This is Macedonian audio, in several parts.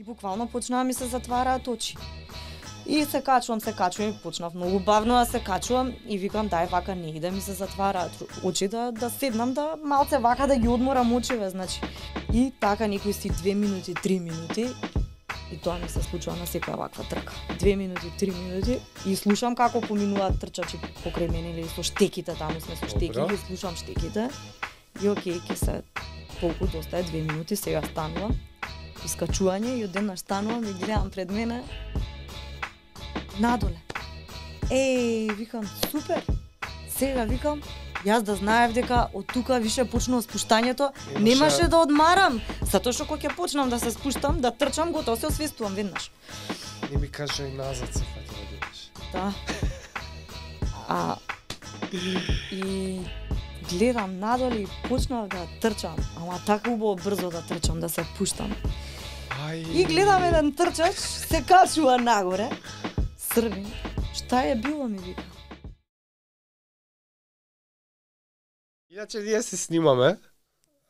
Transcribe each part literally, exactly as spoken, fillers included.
И буквално почнаа ми се затвараат очи. И се качувам, се качувам и почнав многу бавно да се качувам и викам дај вака не да ми се затвараат очи да да седнам да малце вака да ги одморам очиве, значи. И така некои си две минути, три минути и тоа ми се случува на секоја ваква трка. Две минути, три минути и слушам како поминуваат трчачи покрај мене или со штеките, таму сме со штеки, и слушам штеките. И окей, ке се толку доста е две минути, сега станувам. Искачување и одеднаш станувам и гледам пред мене надоле. Еј, викам, супер. Сега викам, јас да знаев дека од тука више почнува спуштањето, немаше да одмарам, затоа што кога ќе почнам да се спуштам, да трчам, готово се освестувам веднаш. Не ми кажа и назад се фати да бидеш. Да. А и гледам надоле и почнав да трчам, ама така убаво брзо да трчам, да се пуштам. Ај. И гледам еден трчач, се качува нагоре, срвен. Шта е било, ми вика. Иначе ние се снимаме. Да?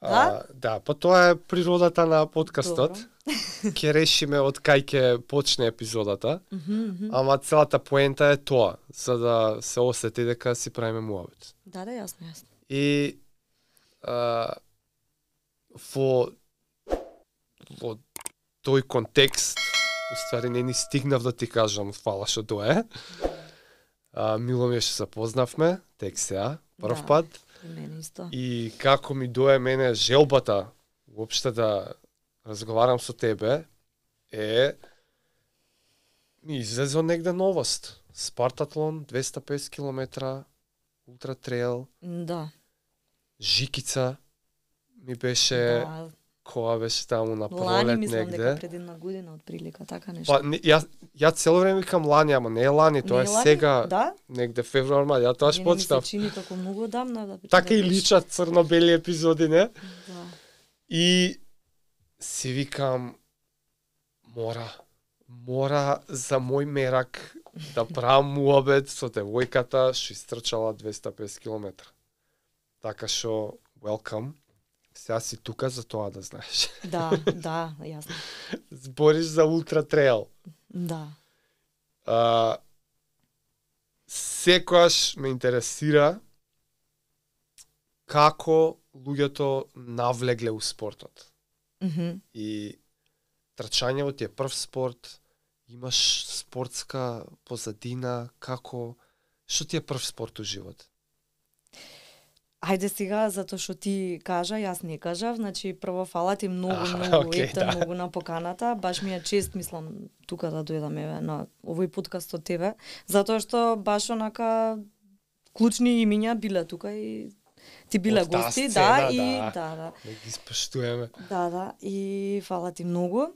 А, да, па тоа е природата на подкастот. Ќе решиме од кај ќе почне епизодата. Mm -hmm. Ама целата поента е тоа, за да се осети дека си правиме муабет. Да, да, јасно, јасно. И а, во во тој контекст, уствари не ни стигнав да ти кажам фала што дое. А, мило ми е што се познавме, тек сега, прв Да. пат. И мене исто. И како ми дое мене желбата уопште да разговарам со тебе е ми излезе негде новост. Спартатлон двеста и песет километра, ултра трейл, Да. Жикица ми беше Да. која беше таму на Лани пролет мислам дека негде. пред една година отприлика, така нешто. Па не, ја ја цело време викам лани, ама не е лани, тоа Не е лани? сега Да? негде февруар, мар, ја тоа Мене ми се почнав. чини како многу одамна да. Така да и беше. личат црно-бели епизоди, не? Да. И си викам, мора, мора за мој мерак да правам муабет со девојката што истрчала двеста и песет километра. Така што, welcome. Сега си тука за тоа да знаеш. Да, да, јасно. Збориш за ултра трейл. Да. А, секојаш ме интересира како луѓето навлегле у спортот. Мгм. И трчањето ти е прв спорт, имаш спортска позадина, како, што ти е прв спорт у живот? Ајде сега, затоа што ти кажа, јас не кажав, значи прво фала ти многу, Аха, многу, окей, ете, да. многу на поканата, баш ми е чест, мислам, тука да дојдам еве на овој подкаст од тебе, затоа што баш онака клучни имиња биле тука и ти биле Од таа гости, сцена, да, и да. да, да. Да ги споштуваме. Да, да, и фала ти многу.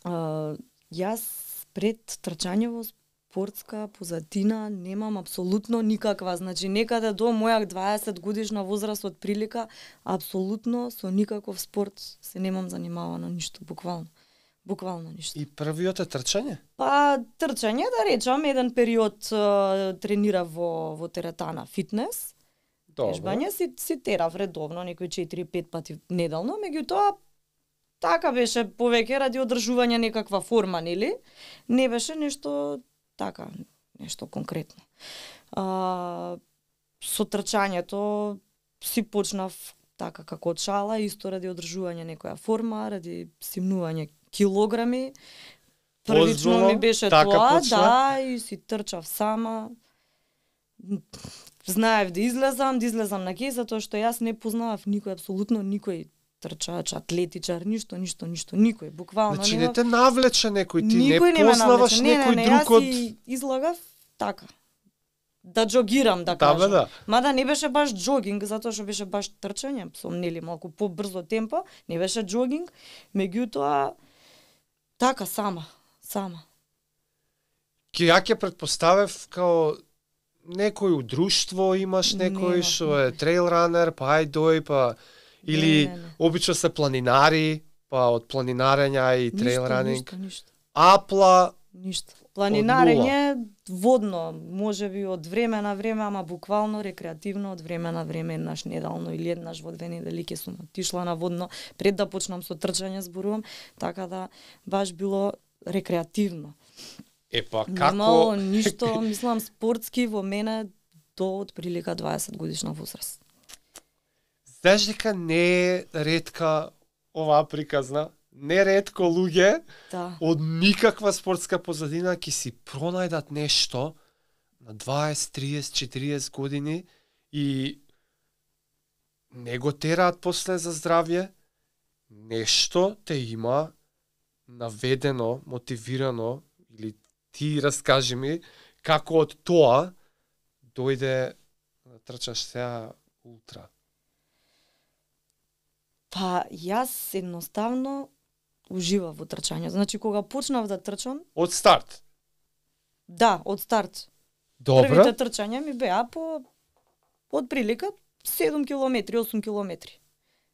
А, јас пред трчање во спортска позадина немам апсолутно никаква, значи некаде до моја дваесет годишна возраст од прилика, апсолутно со никаков спорт се немам занимавано ништо, буквално. Буквално ништо. И првиот е трчање? Па трчање, да речам, еден период а, тренирав во во теретана фитнес. Тежбање си, си терав редовно, некои четири-пет пати неделно, меѓутоа така беше повеќе ради одржување некаква форма, нели? Не беше нешто така, нешто конкретно. А, со трчањето си почнав така како од шала, исто ради одржување некоја форма, ради симнување килограми. Првично Озбилно, ми беше така тоа, почна? да, и си трчав сама. Знаев да излезам, да излезам на ке, затоа што јас не познавав никој, апсолутно никој трчач, атлетичар, ништо, ништо, ништо, никој, буквално. Значи нема- не те навлече некој, ти Никој не ме познаваш навлече. Не, некој не, не, друг јас од... си излагав така. Да джогирам, да Да, кажам. бе, да. Мада не беше баш джогинг, затоа што беше баш трчање, со нели малку побрзо темпо, не беше джогинг, меѓутоа така сама, сама. Ке ја ќе претпоставев као некој у друштво имаш некој Нема, што е трейл ранер, па ај дој, па или Не, не, не. обично се планинари, па од планинарења и трейл Ништо, ранинг. Ништо, ништо, Апла, ништо. Планинарење водно, можеби од време на време, ама буквално рекреативно од време на време, еднаш неделно или еднаш во две недели ќе сум отишла на водно пред да почнам со трчање зборувам, така да баш било рекреативно. Епа Немало како ништо, мислам, спортски во мене до отприлика дваесет годишна возраст. Знаеш дека не е ретка оваа приказна, не ретко луѓе Да. од никаква спортска позадина ќе си пронајдат нешто на дваесет, тридесет, четириесет години и не го тераат после за здравје, нешто те има наведено, мотивирано, или ти раскажи ми како од тоа дојде да трчаш сега ултра. Па јас едноставно уживав во трчање. Значи кога почнав да трчам, Од старт. да, од старт. Добро. Првите трчања ми беа по од прилика седум километри, осум километри.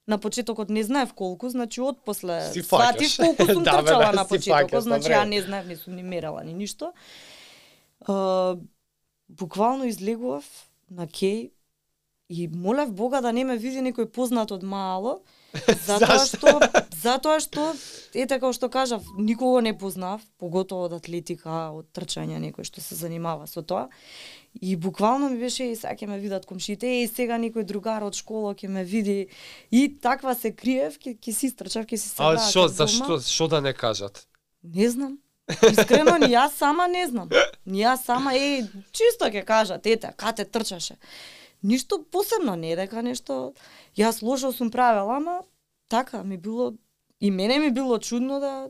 На почетокот не знаев колку, значи од после Си сватив фаќаш. колку сум Да, бе, трчала да, на си почетокот, фаќаш на значи време. ја не знаев, не сум ни мерала ни ништо. Uh, буквално излегував на кеј и молев Бога да не ме види некој познат од мало, затоа Зашто? што затоа што ете како што кажав, никого не познав, поготово од атлетика, од трчање, некој што се занимава со тоа. И буквално ми беше и сега ќе ме видат комшите, и сега некој другар од школа ќе ме види. И таква се криев, ќе ќе си истрчав, ќе си се А враќав што, дома. зашто, што да не кажат? Не знам. Искрено, ни јас сама не знам. Ни јас сама, е, чисто ќе кажат, ете, кате трчаше. Ништо посебно, не е дека нешто, јас лошо сум правела, ама така ми било, и мене ми било чудно да,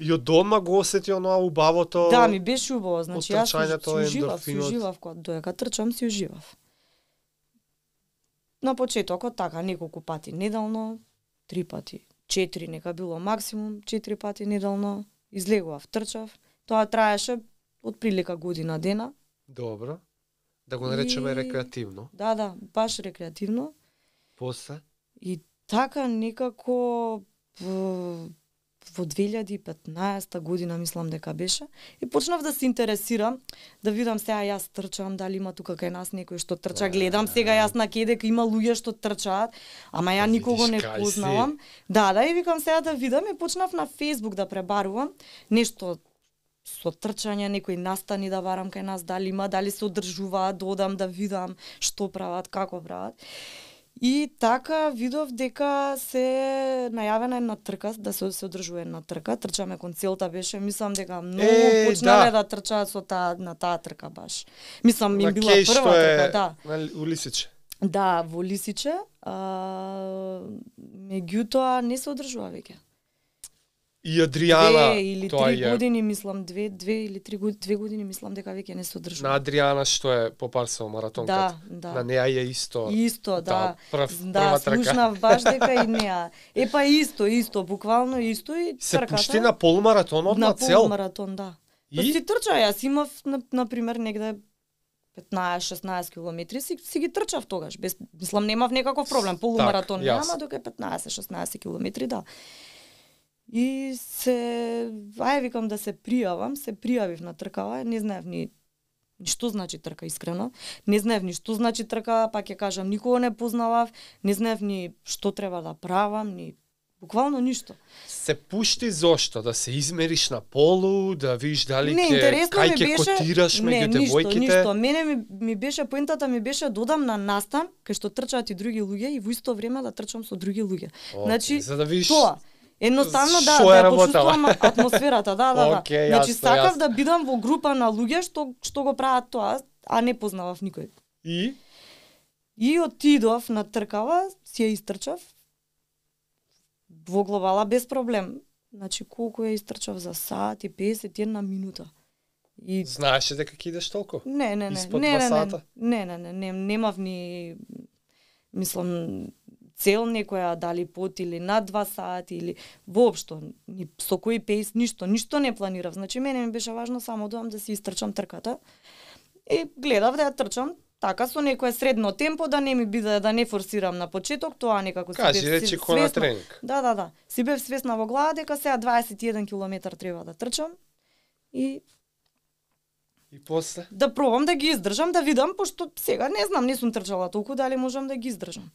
И од дома го осети оноа убавото. да, ми беше убаво, значи јас си, трчањето, си уживав, си ендорфинот. уживав, кога доека трчам си уживав. На почетокот така, неколку пати неделно, три пати, четири нека било максимум, четири пати неделно, излегував, трчав. Тоа траеше од прилика година дена. Добро. Да го наречеме И- рекреативно. Да, да, баш рекреативно. После? И така некако во, во две илјади и петнаесета година мислам дека беше и почнав да се интересирам, да видам сега јас трчам, дали има тука кај нас некој што трча, гледам сега јас на ке дека има луѓе што трчаат, ама ја Да никого видиш не кај си. познавам. Да, да, и викам сега да видам и почнав на Facebook да пребарувам нешто со трчање, некои настани да барам кај нас, дали има, дали се одржуваат, да одам да видам што прават, како прават. И така видов дека се најавена една трка, да се се одржува една трка, трчаме кон целта беше, мислам дека многу Е, почнале да. да трчаат со таа на таа трка баш. Мислам На им била кеј што прва е трка, да. на улисиче. Да, во Лисиче, а, меѓутоа не се одржува веќе. И Адријана, Две или тоа три е. години, мислам, две, две или три години, две години мислам дека веќе не се одржува. На Адријана што е попарсал маратонката. Да, да. На неа е исто. Исто, да. прв, Да, прва трка. слушнав баш дека и неа. Е па исто, исто, буквално исто и Се трката. пушти на полумаратонот на, на цел. полумаратон, да. Па И си трча, јас имав на, на пример негде петнаесет-шеснаесет километри, си, си ги трчав тогаш. Без, мислам, немав некаков проблем. Полумаратон Так, нема, јасно. дока петнаесет-шеснаесет километри, да. И се, ај викам да се пријавам, се пријавив на тркава, не знаев ни ни што значи трка искрено. Не знаев ни што значи трка, па ќе кажам, никого не познавав, не знаев ни што треба да правам, ни буквално ништо. се пушти зошто? Да се измериш на полу, да видиш дали Не, ке, интересно кај ми ќе беше, котираш не, меѓу ништо, девојките. ништо. Мене ми, ми беше поентата ми беше додам на настан кај што трчаат и други луѓе и во исто време да трчам со други луѓе. Океј, Значи, за да видиш Тоа. Едноставно да, шо да е ја работела. почувствувам атмосферата, да, да, да. Океј, Значи јасно, сакав јасно. да бидам во група на луѓе што што го прават тоа, а не познавав никој. И И отидов на тркава, си ја истрчав во глобала без проблем. Значи колку ја истрчав за сат и песет и една минута. И знаеше дека ќе идеш толку? не, не, не, Испод не, два не, не, сата? не, не, не, не, немав ни мислам цел некоја дали под или над два сати или воопшто ни со кој пейс ништо, ништо не планирав. Значи мене ми беше важно само доам да си истрчам трката. И гледав да ја трчам така со некое средно темпо да не ми биде да не форсирам на почеток, тоа некако си Кажи, бев речи сви- ко на свесна. тренинг. Да, да, да. Си бев свесна во глава дека сега дваесет и еден километар треба да трчам и И после? Да пробам да ги издржам, да видам, пошто сега не знам, не сум трчала толку, дали можам да ги издржам.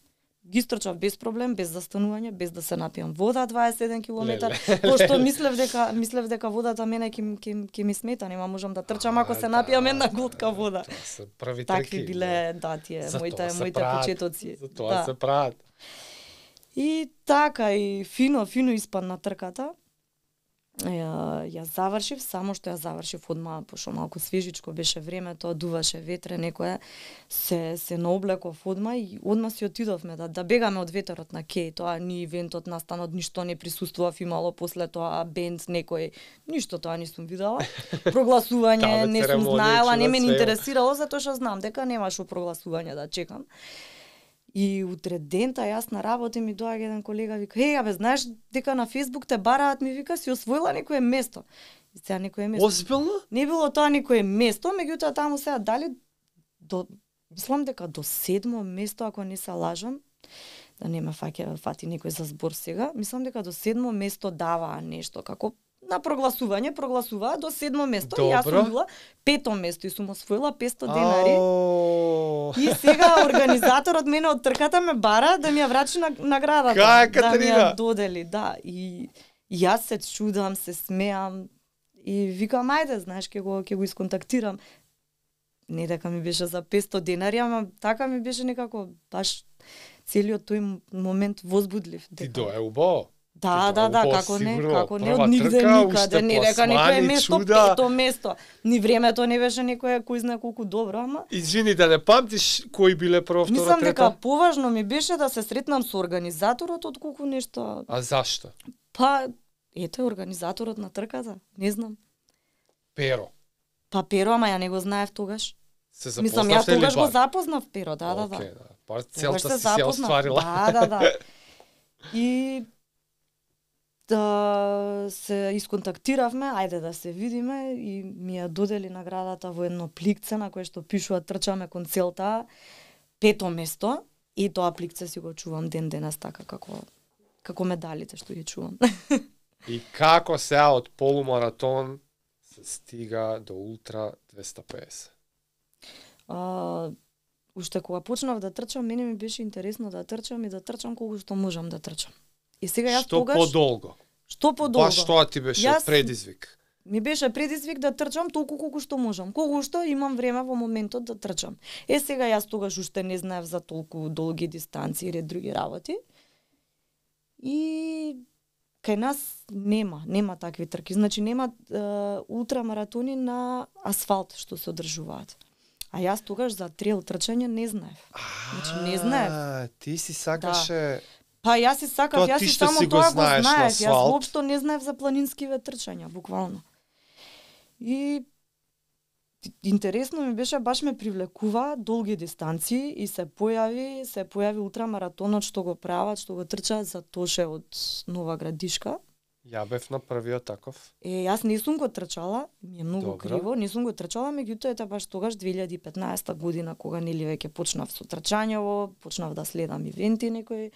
Ги стрчав без проблем, без застанување, без да се напијам вода дваесет и еден километар, пошто мислев дека мислев дека водата мене ќе ќе ќе ми смета, нема можам да трчам ако се напијам една глотка вода. Тоа се први Такви трки. биле, да, тие моите моите почетоци. За тоа да. се прават. И така, и фино, фино испадна трката. Ја, ја завршив, само што ја завршив одма, пошто малку свежичко беше времето, дуваше ветре, некоја се се наоблеков одма и одма си отидовме да да бегаме од ветерот на Кеј, тоа ни ивентот настанот ништо не присуствував, имало после тоа бенд некој, ништо тоа не сум видела. Прогласување не сум знаела, не ме интересирало затоа што знам дека немаше прогласување да чекам. И утре дента јас на работа ми доаѓа еден колега, вика: "Еј, абе, знаеш дека на Facebook те бараат, ми вика, си освоила некое место." И сега некое место. Озбилно? Не било тоа некое место, меѓутоа таму сега дали до мислам дека до седмо место, ако не се лажам, да не ме фаќа фати некој за збор сега, мислам дека до седмо место даваа нешто како на прогласување, прогласуваа до седмо место. Добро. И јас сум била пето место и сум освоила петсто денари. Ау. И сега организаторот мене од трката ме бара да ми ја врачи на наградата. Кај, да ми Катерина? ја додели, да. И, и јас се чудам, се смеам и викам ајде, знаеш, ќе го ќе го исконтактирам. Не дека ми беше за петсто денари, ама така ми беше некако баш целиот тој момент возбудлив. Ти дое убаво. Да, Ти да, да, убаво, како не, сигурно, како не прва од нигде трка, никаде, уште не дека некое пласмани, место, чуда. пето место. Ни времето не беше некое кој знае колку добро, ама Извини, да не памтиш кои биле прво, второ, мислам трето? дека поважно ми беше да се сретнам со организаторот од колку нешто. А зашто? Па ете организаторот на трката, не знам. Перо. Па Перо, ама ја не го знаев тогаш. Се Мислам ја запознавте ли тогаш го бар? запознав Перо, да, да, да. Океј, да. Бар Тогаш целта се си ја запознав. остварила. Да, да, да. И да се исконтактиравме, ајде да се видиме и ми ја додели наградата во едно пликце на кое што пишува трчаме кон целта, пето место, и тоа пликце си го чувам ден денес така како како медалите што ги чувам. И како сега од полумаратон се стига до ултра двеста педесет? А, уште кога почнав да трчам, мене ми беше интересно да трчам и да трчам колку што можам да трчам. И сега јас Што тогаш подолго? што подолго? Баш тоа ти беше Јас- предизвик. Ми беше предизвик да трчам толку колку што можам, колку што имам време во моментот да трчам. Е сега јас тогаш уште не знаев за толку долги дистанции и ред други работи. И кај нас нема, нема такви трки. Значи нема е, ултрамаратони на асфалт што се одржуваат. А јас тогаш за трейл трчање не знаев. Значи, не знаев. А, ти си сакаше... Па јас си сакав, Тоа јас ти си што само си го тоа го знаеш на знаев. Јас асфалт. воопшто не знаев за планинскиве трчања, буквално. И интересно ми беше, баш ме привлекува долги дистанции и се појави, се појави ултрамаратонот што го прават, што го трчаат за Тоше од Нова Градишка. Ја бев на првиот таков. Е, јас не сум го трчала, ми е многу Добро. криво, не сум го трчала, меѓутоа ете баш тогаш две илјади и петнаесета година кога нели веќе почнав со трчањево, почнав да следам ивенти некои.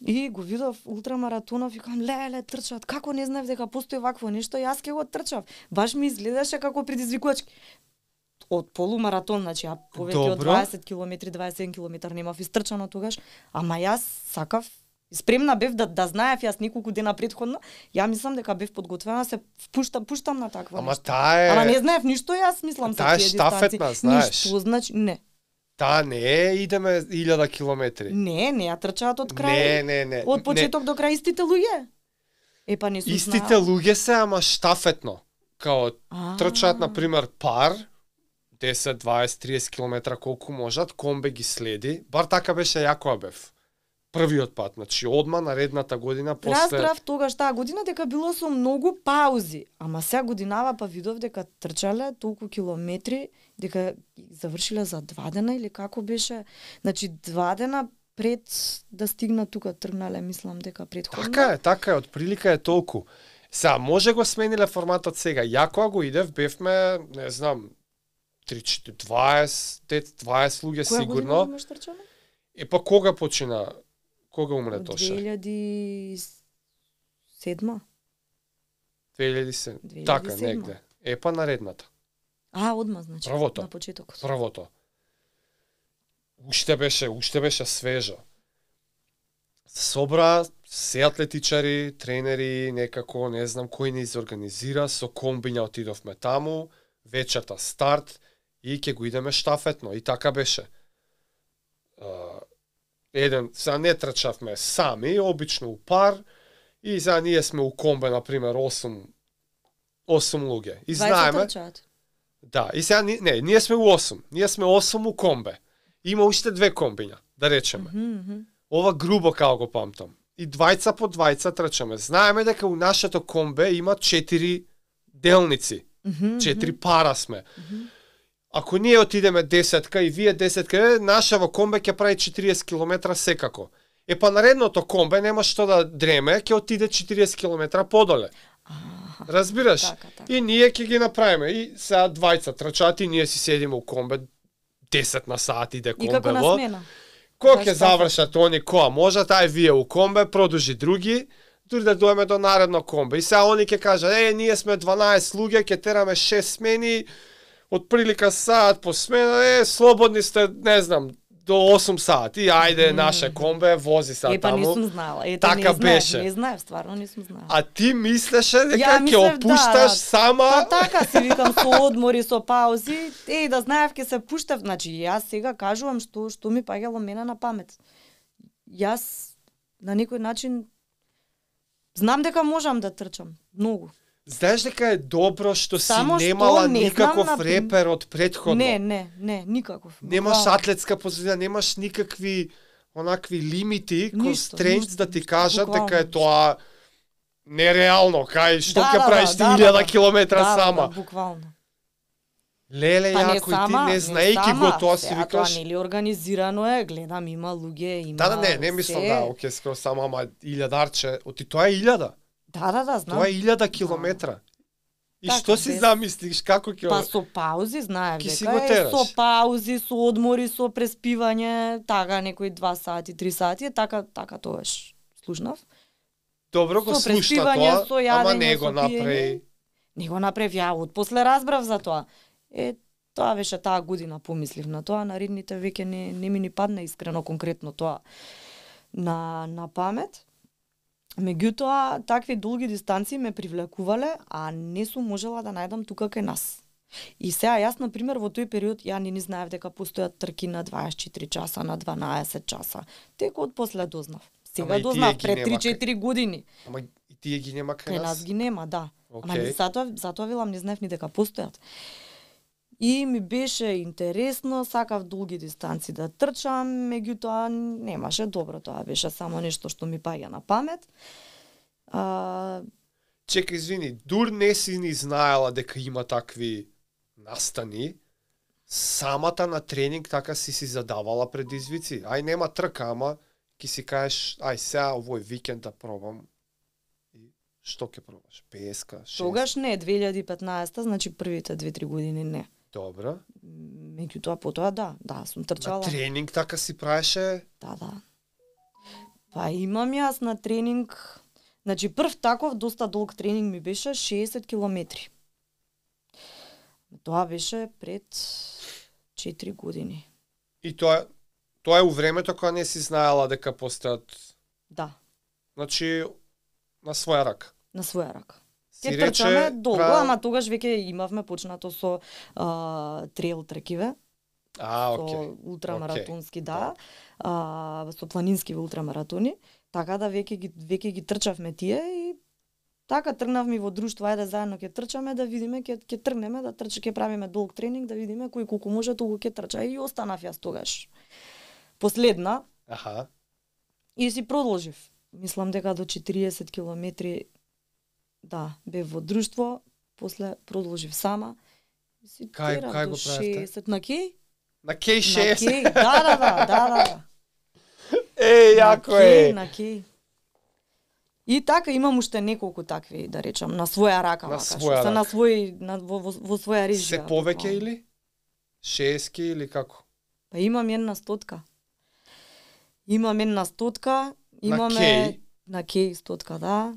И го видов ултрамаратонов и викам леле трчат, како не знаев дека постои вакво нешто, јас ќе го трчав. Баш ми изгледаше како предизвикувачки. Од полумаратон, значи ја повеќе од Добро. дваесет километри, дваесет и еден километар немав истрчано тогаш, ама јас сакав, спремна бев да да знаев јас неколку дена претходно, ја мислам дека бев подготвена, се впуштам, пуштам на такво Ама нешто. таа е... Ама не знаев ништо, јас мислам за Таа е тие дистанции. штафетна, знаеш. Ништо, значи не. Таа не е идеме илјада километри. Не, не ја трчаат од крај. Не, не, не. Од почеток до крај истите луѓе. Е па не сум Истите знаела. луѓе се, ама штафетно. Као А. трчаат, на пример, пар, десет, дваесет, триесет километра колку можат, комбе ги следи. Бар така беше јако бев. Првиот пат, значи одма наредната година после... Разбрав тогаш таа година дека било со многу паузи, ама сега годинава па видов дека трчале толку километри, дека ги завршиле за два дена или како беше, значи два дена пред да стигнат тука тргнале, мислам дека претходно. Така е, така е, од прилика е толку. Сега, може го смениле форматот сега. Ја кога го идев, бевме, не знам, три четири дваесет, дваесет луѓе Која година сигурно. имаш трчане? Е па кога почина? Кога умре Од Тоше? две илјади и седма. две илјади и седма. две илјади и Така, седма. негде. Е па наредната. А, одма, значи, Првото. на почетокот. Првото. Уште беше, уште беше свежо. Собра се атлетичари, тренери, некако, не знам кој не изорганизира, со комбиња отидовме таму, вечерта старт и ќе го идеме штафетно. И така беше. Uh, еден, сега не трчавме сами, обично у пар, и сега ние сме у комбе, например, осум, осум луѓе. И знаеме... Трчаат. Да, и сега, не, ние сме у осум. Ние сме осум у комбе. Има уште две комбиња, да речеме. Mm -hmm. Ова грубо као го памтам. И двајца по двајца трчаме. Знаеме дека у нашето комбе има четири делници. Mm -hmm. Четири пара сме. Mm -hmm. Ако ние отидеме десетка и вие десетка, нашава комбе ќе прави четириесет километра секако. Е па наредното комбе нема што да дреме, ќе отиде четириесет километра подоле. Разбираш? Така, така. И ние ќе ги направиме. И сега двајца трчаат и ние си седиме у комбе десет на сат иде комбе. И како на смена. Кој ќе завршат они која можат, ај вие у комбе, продолжи други, дури да доеме до наредно комбе. И сега они ќе кажат, е, ние сме дванаесет луѓе, ќе тераме шест смени, од прилика саат по смена, е, слободни сте, не знам, до осум сати, ајде, mm. наше комбе, вози са таму. Е, па таму. не сум знала. Ете, така не знаев, беше. Не знаев, стварно не сум знала. А ти мислеше дека ќе мислев, опушташ да, сама? Па така си викам со одмори, со паузи, е, да знаев ќе се пуштав. Значи, јас сега кажувам што што ми паѓало мене на памет. Јас на некој начин знам дека можам да трчам, многу. Знаеш дека е добро што Само си што немала не никаков знам на... репер од претходно. Не, не, не, никаков. Немаш Буквално. атлетска позиција, немаш никакви онакви лимити, Ништо, констрейнтс ништо, да ти ништо, кажат буквално дека е тоа нереално, кај што Да, ќе да, правиш да, ти да, илјада да, километра да, сама. Да, буквално. Леле, Па не јако, сама, и ти не знаејќи го тоа си сега викаш. Тоа нели организирано е, гледам има луѓе, има. Да, да, не, не мислам се. да, оке, скоро само ама илјадарче, оти тоа е илјада. Да, да, да, знам. Тоа е илјада километра. И Така, што си без- замислиш, како ќе... Па со паузи знаев Ки си дека го е тераш. со паузи, со одмори, со преспивање, така некои два сати, три сати, е така така тоаш слушнав. Добро го со слушна преспивање, тоа, со ама јадење, не го со направи. пиење. Не го направив ја, од после разбрав за тоа. Е, тоа беше таа година помислив на тоа, наредните веќе не, не ми ни падна искрено конкретно тоа на, на памет. Меѓутоа, такви долги дистанции ме привлекувале, а не сум можела да најдам тука кај нас. И сега јас, на пример, во тој период, ја не ни знаев дека постојат трки на дваесет и четири часа, на дванаесет часа. Тек од после дознав. Ама Сега и тие дознав, ги пред нема три-четири години. Ама и тие ги нема кај Кај нас. нас ги нема, да. Ама Океј. не, затоа, затоа велам, не знаев ни дека постојат. И ми беше интересно, сакав долги дистанци да трчам, меѓутоа немаше добро, тоа беше само нешто што ми паѓа на памет. А, Чекај, извини, дур не си ни знаела дека има такви настани, самата на тренинг така си си задавала предизвици. Ај, нема трка, ама ќе си кажеш, ај, сега овој викенд да пробам. И што ќе пробаш? петдесет, шест? тогаш не, две илјади и петнаесета, значи првите две-три години не. Добро. Меѓутоа потоа да, да, сум На трчала. тренинг така си правеше? Да, да. Па имам јас на тренинг, значи прв таков доста долг тренинг ми беше шеесет километри. Тоа беше пред четири години. И тоа тоа е у времето кога не си знаела дека постојат, Да, значи на своја рака. на своја рака. Си Ке трчаме долго, пра- ама тогаш веќе имавме почнато со а, трейл трекиве, А, со окей. ултрамаратонски, да, а, со планински ултрамаратони, така да веќе ги веќе ги трчавме тие и така тргнавме во друштво, ајде заедно ќе трчаме да видиме, ќе ќе тргнеме да трча, ќе правиме долг тренинг да видиме кој колку може толку ќе трча и останав јас тогаш. Последна Аха. и си продолжив. Мислам дека до четириесет километри да, бев во друштво, после продолжив сама. И си Кај- терав кај до го правевте? шеесет на кеј? На кеј На шеесет. кеј, да, да, да, да, да, да. Е, јако на кеј, е. на кеј. И така имам уште неколку такви, да речам, на своја рака, На вака, што своја се на рака. свој на во, во, во своја режија. Се повеќе буквално. или? шеесет или како? Па имам една стотка. Имам една стотка, имаме кеј? на кеј стотка, да.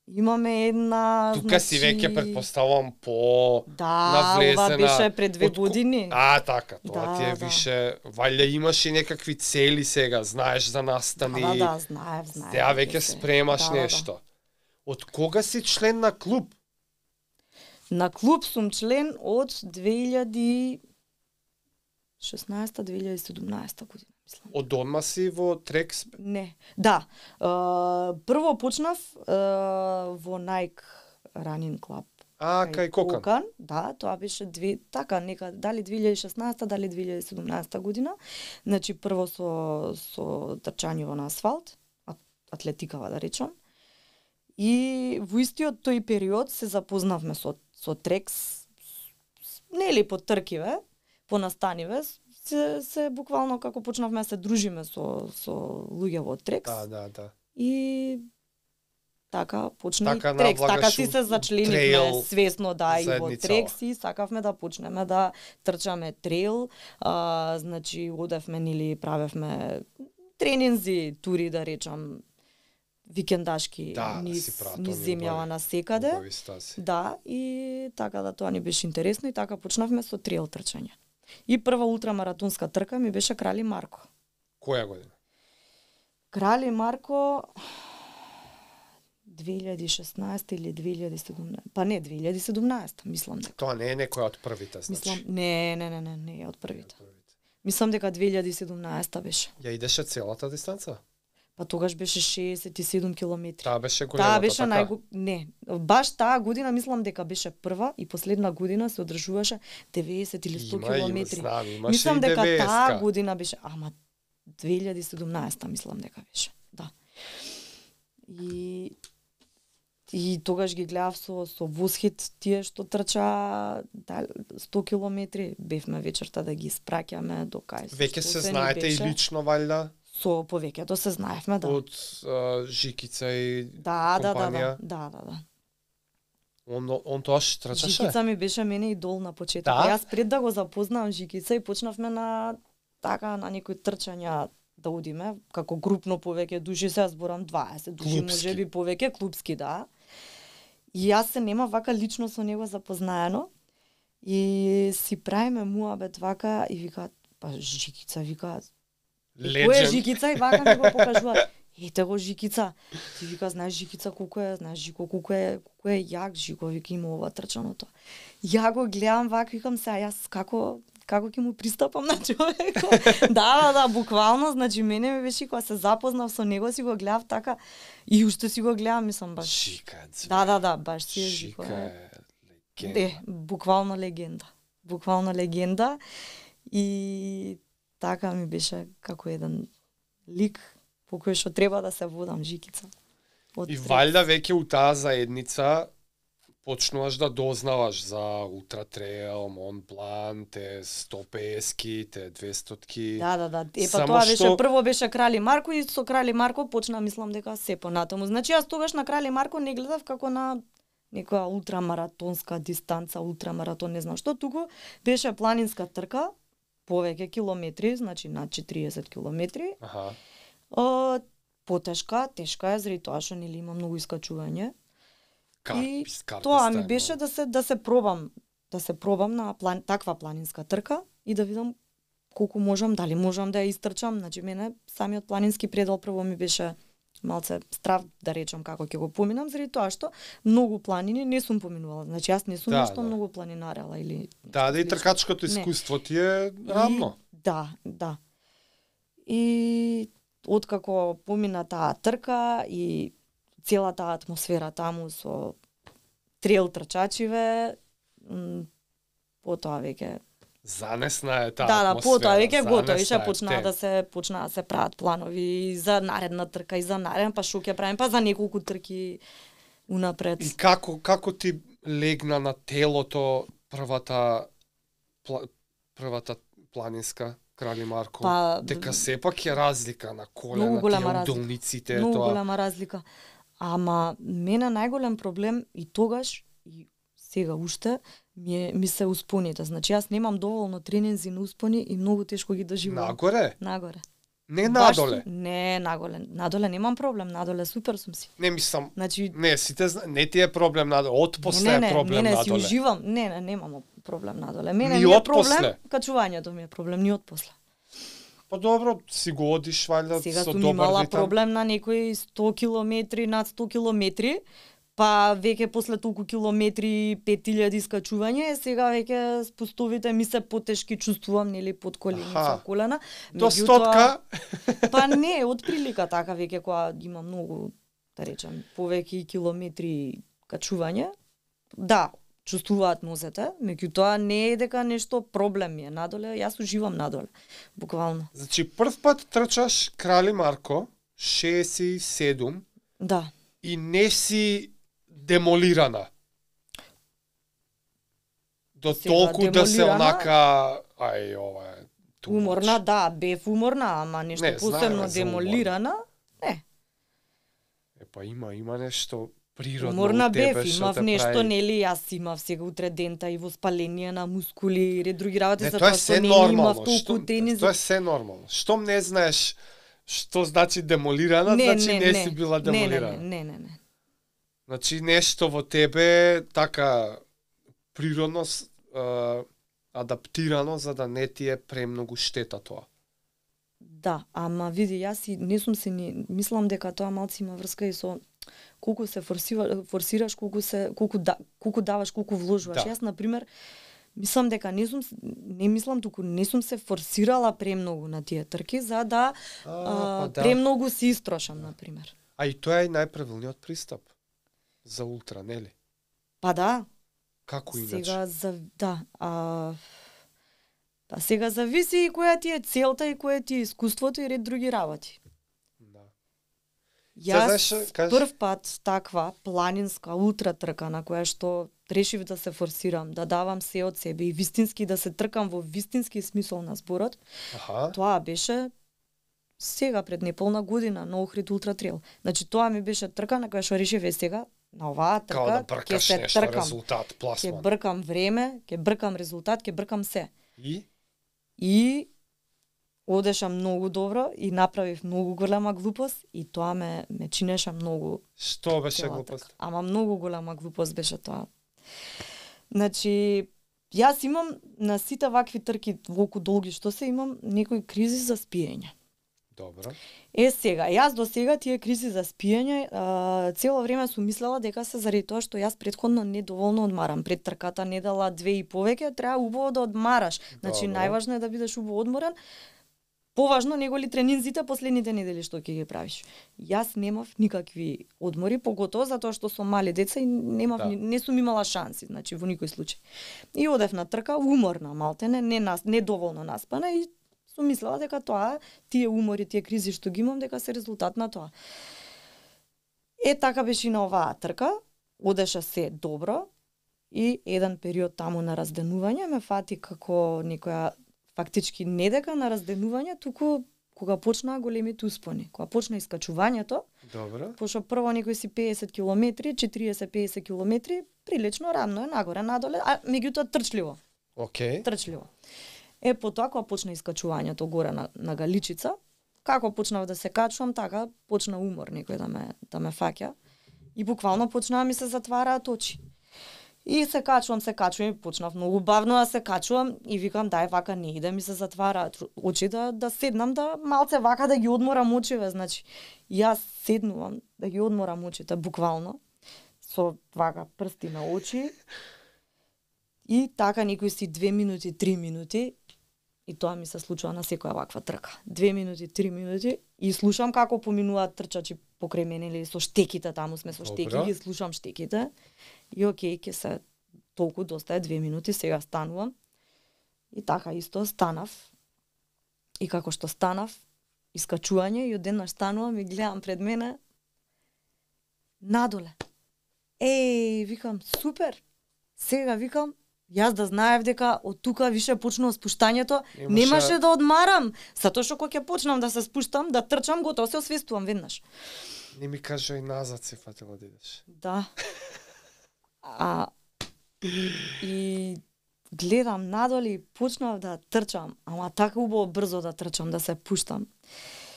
Имаме една, Тука си веќе предпоставам по Да, навлезена. ова беше пред две Од ко- години. А, така, тоа Да, ти е да. више, валја имаш и некакви цели сега, знаеш за настани. Да, да, да, знаев, знаев. Сега веќе веќе се. спремаш Да, да, да. нешто. Од кога си член на клуб? На клуб сум член од две илјади и шеснаеста две илјади и седумнаеста година, мислам. Од одма си во Трекс? Не. Да. Е, прво почнав е, во Nike Running Club. А, кај Кокан. Да, тоа беше две, така, нека, дали две илјади и шеснаеста, дали две илјади и седумнаеста година. Значи, прво со, со трчањево на асфалт, ат- атлетикава да речам. И во истиот тој период се запознавме со, со Трекс, нели по тркиве, по настаниве, се, се буквално како почнавме да се дружиме со, со луѓе во Трекс. Да, да, да. И така почна Така и Трекс, така навлагаш си се у зачленивме трейл свесно да и во заедницава. Трекс и сакавме да почнеме да трчаме трейл, а, значи одевме нели правевме тренинзи, тури да речам викендашки Да, низ, си пратам низ и земјава убави- на секаде. убави стази. Да, и така да тоа ни беше интересно и така почнавме со трейл трчање. И прва ултрамаратонска трка ми беше Крали Марко. Која година? Крали Марко две илјади и шеснаеста или две илјади и седумнаеста, па не, две илјади и седумнаеста, мислам дека. Тоа не е некоја од првите, значи. Мислам, не, не, не, не, не е од првите. Не е од првите. Мислам дека две илјади и седумнаеста беше. Ја идеше целата дистанца? Па тогаш беше шеесет и седум километри. Таа беше големата, Таа беше така? најго... Не, баш таа година мислам дека беше прва и последна година се одржуваше деветдесет или сто Има, има, километри. знам, имаше Мислам и дека таа деветдесетка. година беше, ама две илјади и седумнаеста мислам дека беше. Да. И и тогаш ги гледав со со возхит тие што трча да, сто километри, бевме вечерта да ги спраќаме до кај. Веќе што се ни знаете и беше. лично, валјда? Со повеќето се знаевме, да. Од а, Жикица и Да, да, да, компанија? да, да, да, да. Он, он тоаш трчаше? Жикица ми беше мене идол на почеток. Да? Јас пред да го запознавам Жикица и почнавме на така на некои трчања да одиме, како групно повеќе души, се зборам дваесет души, Клупски. можеби повеќе, клубски, да. И јас се нема вака лично со него запознаено и си правиме муабет вака и викаат, па Жикица, викаат, кој е Легенд. Жикица и вака ми го покажуваат. Ете го Жикица. Ти вика, знаеш Жикица колку е, знаеш Жико колку е, колку е јак, Жико вика има ова трчаното. Ја го гледам вака, викам се, а јас како како ќе му пристапам на човекот. Да, да, да, буквално, значи мене ми беше кога се запознав со него, си го гледав така и уште си го гледам, мислам баш. Жика е звезда. Да, да, да, баш си е Жико. Жика е. е легенда. Е, буквално легенда. Буквално легенда. И така ми беше како еден лик по кој што треба да се водам Жикица. Од И Трекс. валјда веќе у таа заедница почнуваш да дознаваш за Ултра Трейл, Мон Блан, те сто петдесетки, те двестотки. Да, да, да. Е, па Само тоа беше, што- прво беше Крали Марко и со Крали Марко почна, мислам дека се понатаму. Значи јас тогаш на Крали Марко не гледав како на некоја ултрамаратонска дистанца, ултрамаратон, не знам што, туку беше планинска трка, повеќе километри, значи над четириесет километри. Аха. О, потешка, тешка е заради тоа што нели има многу искачување. И Карпис, карпис, Тоа ми тај беше многу. да се да се пробам, да се пробам на план, таква планинска трка и да видам колку можам, дали можам да ја истрчам. Значи мене самиот планински предел прво ми беше малце страв да речам како ќе го поминам, заради тоа што многу планини не сум поминувала. Значи јас не сум Да, нешто да. многу планинарела или Да, да и слично. тркачкото Не. искуство ти е рамно. И, да, да. И откако помина таа трка и целата атмосфера таму со трейл трчачиве, м, потоа веќе Занесна е таа да, да, атмосфера. потоа веќе готови, занесна ше е почнаа те. да се почнаа да се прават планови и за наредна трка и за нареден, па што ќе правим, па за неколку трки унапред. И како како ти легна на телото првата пла, првата планинска Крали Марко? Па, дека сепак е разлика на колена, Многу голема тие разлика. удолниците, Многу тоа. голема разлика. Ама мене најголем проблем и тогаш и сега уште ми е ми се успоните. Значи јас немам доволно тренинзи на успони и многу тешко ги доживувам. Нагоре? Нагоре. Не Баш надоле. сум- Не, наголе. Надоле немам проблем, надоле супер сум си. Не мислам, Значи, не, сите зна- не ти е проблем надоле, од после не, е не, проблем не, не, си надоле. уживам. Не, не, немам проблем надоле. Мене Ни ми е од проблем, после? качувањето ми е проблем, ни од после. Па добро, си го одиш валјда Сега со сум добар имала ритам. проблем на некои сто километри, над сто километри, па веќе после толку километри, пет илјади скачување, сега веќе спустовите ми се потешки, чувствувам, нели, под коленица, Аха. колена. До Меѓутоа- стотка, Па не, од прилика така веќе кога има многу, да речем, повеќе километри качување. Да, чувствуваат нозете, меѓутоа не е дека нешто проблем ми е надоле, јас уживам надоле, буквално. значи прв пат трчаш Крали Марко, шеесет и седум, Да. и не си демолирана. До Сега, толку да се демолирана- онака, ај ова е too much. Уморна, да, бев уморна, ама нешто Не, посебно знаеме за демолирана. Е, па има, има нешто природно Уморна у тебе бев, што имав те нешто, прави. нели, јас имав сега утре дента и воспаление на мускули и ред други работи, Не, тоа затоа е што се не нормално. имав толку Што, тенис. тоа е се нормално. Штом не знаеш што значи демолирана, значи не, си била демолирана. Не, не, не, не, не. Значи нешто во тебе така природно с- а, адаптирано за да не ти е премногу штета тоа. Да, ама види, јас и не сум се ни мислам дека тоа малци има врска и со колку се форсива, форсираш, колку се колку да, колку даваш, колку вложуваш. Да. Јас на пример мислам дека не сум не мислам туку не сум се форсирала премногу на тие трки за да А, а, па да. премногу се истрошам на пример. А и тоа е и најправилниот пристап за ултра, нели? Па да, Како иначе? сега за да, а па сега зависи и која ти е целта и која ти е искуството и ред други работи. Да. Јас знаеш, кажи. прв пат таква планинска ултра трка на која што решив да се форсирам, да давам се од себе и вистински да се тркам во вистински смисол на зборот, Аха. тоа беше сега пред неполна година на Охрид Ултра Трейл. Значи тоа ми беше трка на која што решив е сега на оваа Као да трка ќе бркаш се нешто, тркам, резултат, ќе пласман. бркам време, ќе бркам резултат, ќе бркам се. И? И одеша многу добро и направив многу голема глупост и тоа ме ме чинеше многу. Што беше цела глупост? трка. Ама многу голема глупост беше тоа. Значи, јас имам на сите вакви трки волку долги што се имам некои кризи за спиење. Добро. Е сега, јас до сега тие кризи за спиење а, цело време сум мислела дека се заради тоа што јас претходно недоволно одмарам. Пред трката недела две и повеќе, треба убаво да одмараш. Значи Добро. најважно е да бидеш убаво одморен. Поважно него ли тренинзите последните недели што ќе ги правиш. Јас немав никакви одмори, поготово затоа што сум мали деца и немав Да. ни- не сум имала шанси, значи во никој случај. И одев на трка уморна, малтене, не нас, недоволно наспана и сум мислела дека тоа тие умори, тие кризи што ги имам дека се резултат на тоа. Е така беше и на оваа трка, одеше се добро и еден период таму на разденување ме фати како некоја фактички не дека на разденување, туку кога почнаа големите успони, кога почна искачувањето, Добро. пошто прво некои си педесет километри, четириесет до педесет километри, прилично рамно е нагоре, надоле, а меѓутоа трчливо, Океј. трчливо. Е, потоа кога почна искачувањето горе на, на Галичица, како почнав да се качувам, така почна умор некој да ме, да ме фаќа и буквално почнаа ми се затвараат очи. И се качувам, се качувам и почнав многу бавно да се качувам и викам дај вака не иде ми се затвараат очи да да седнам да малце вака да ги одморам очиве, значи јас седнувам да ги одморам очите буквално со вака прсти на очи и така некои си две минути, три минути и тоа ми се случува на секоја ваква трка. Две минути, три минути и слушам како поминуваат трчачи покрај мене или со штеките, таму сме со штеки, Добро. ги слушам штеките. И окей, ќе се толку доста е две минути, сега станувам. И така исто станав. И како што станав, искачување и одеднаш станувам и гледам пред мене надоле. Еј, викам, супер. Сега викам, јас да знаев дека од тука више почнува спуштањето, Имаше- немаше да одмарам, затоа што кога ќе почнам да се спуштам, да трчам, готово се освестувам веднаш. Не ми кажа и назад се фатила да идеш. Да. А и гледам надоле и почнав да трчам, ама така убаво брзо да трчам, да се пуштам.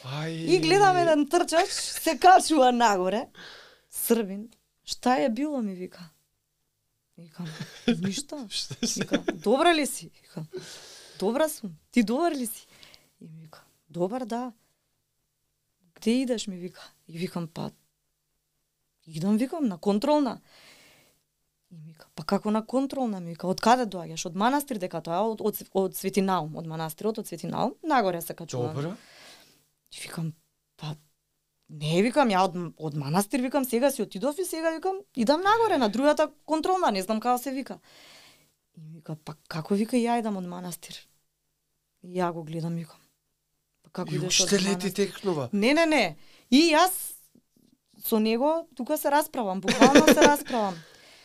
Ај. И гледам еден трчач, се качува нагоре, Србин, шта е било, ми вика. Викам, ништа. Вика, добра ли си? Викам, добра сум. Ти добар ли си? И ми вика, добар, да. Где идеш, ми вика? И викам, па, идам, викам, на контролна. И ми вика, па како на контролна, ми вика, од каде доаѓаш? Од манастир, дека тоа од, од, од Свети Наум, од манастирот, од Свети Наум, нагоре се качувам. Добра. И викам, па, не, викам, ја од, од манастир, викам, сега си отидов и сега, викам, идам нагоре, на другата контролна, не знам како се вика. И вика, па како, вика, ја идам од манастир. И ја го гледам, викам. Па како И идеш од уште лети манастир? текнува. Не, не, не. И јас со него тука се расправам, буквално се расправам.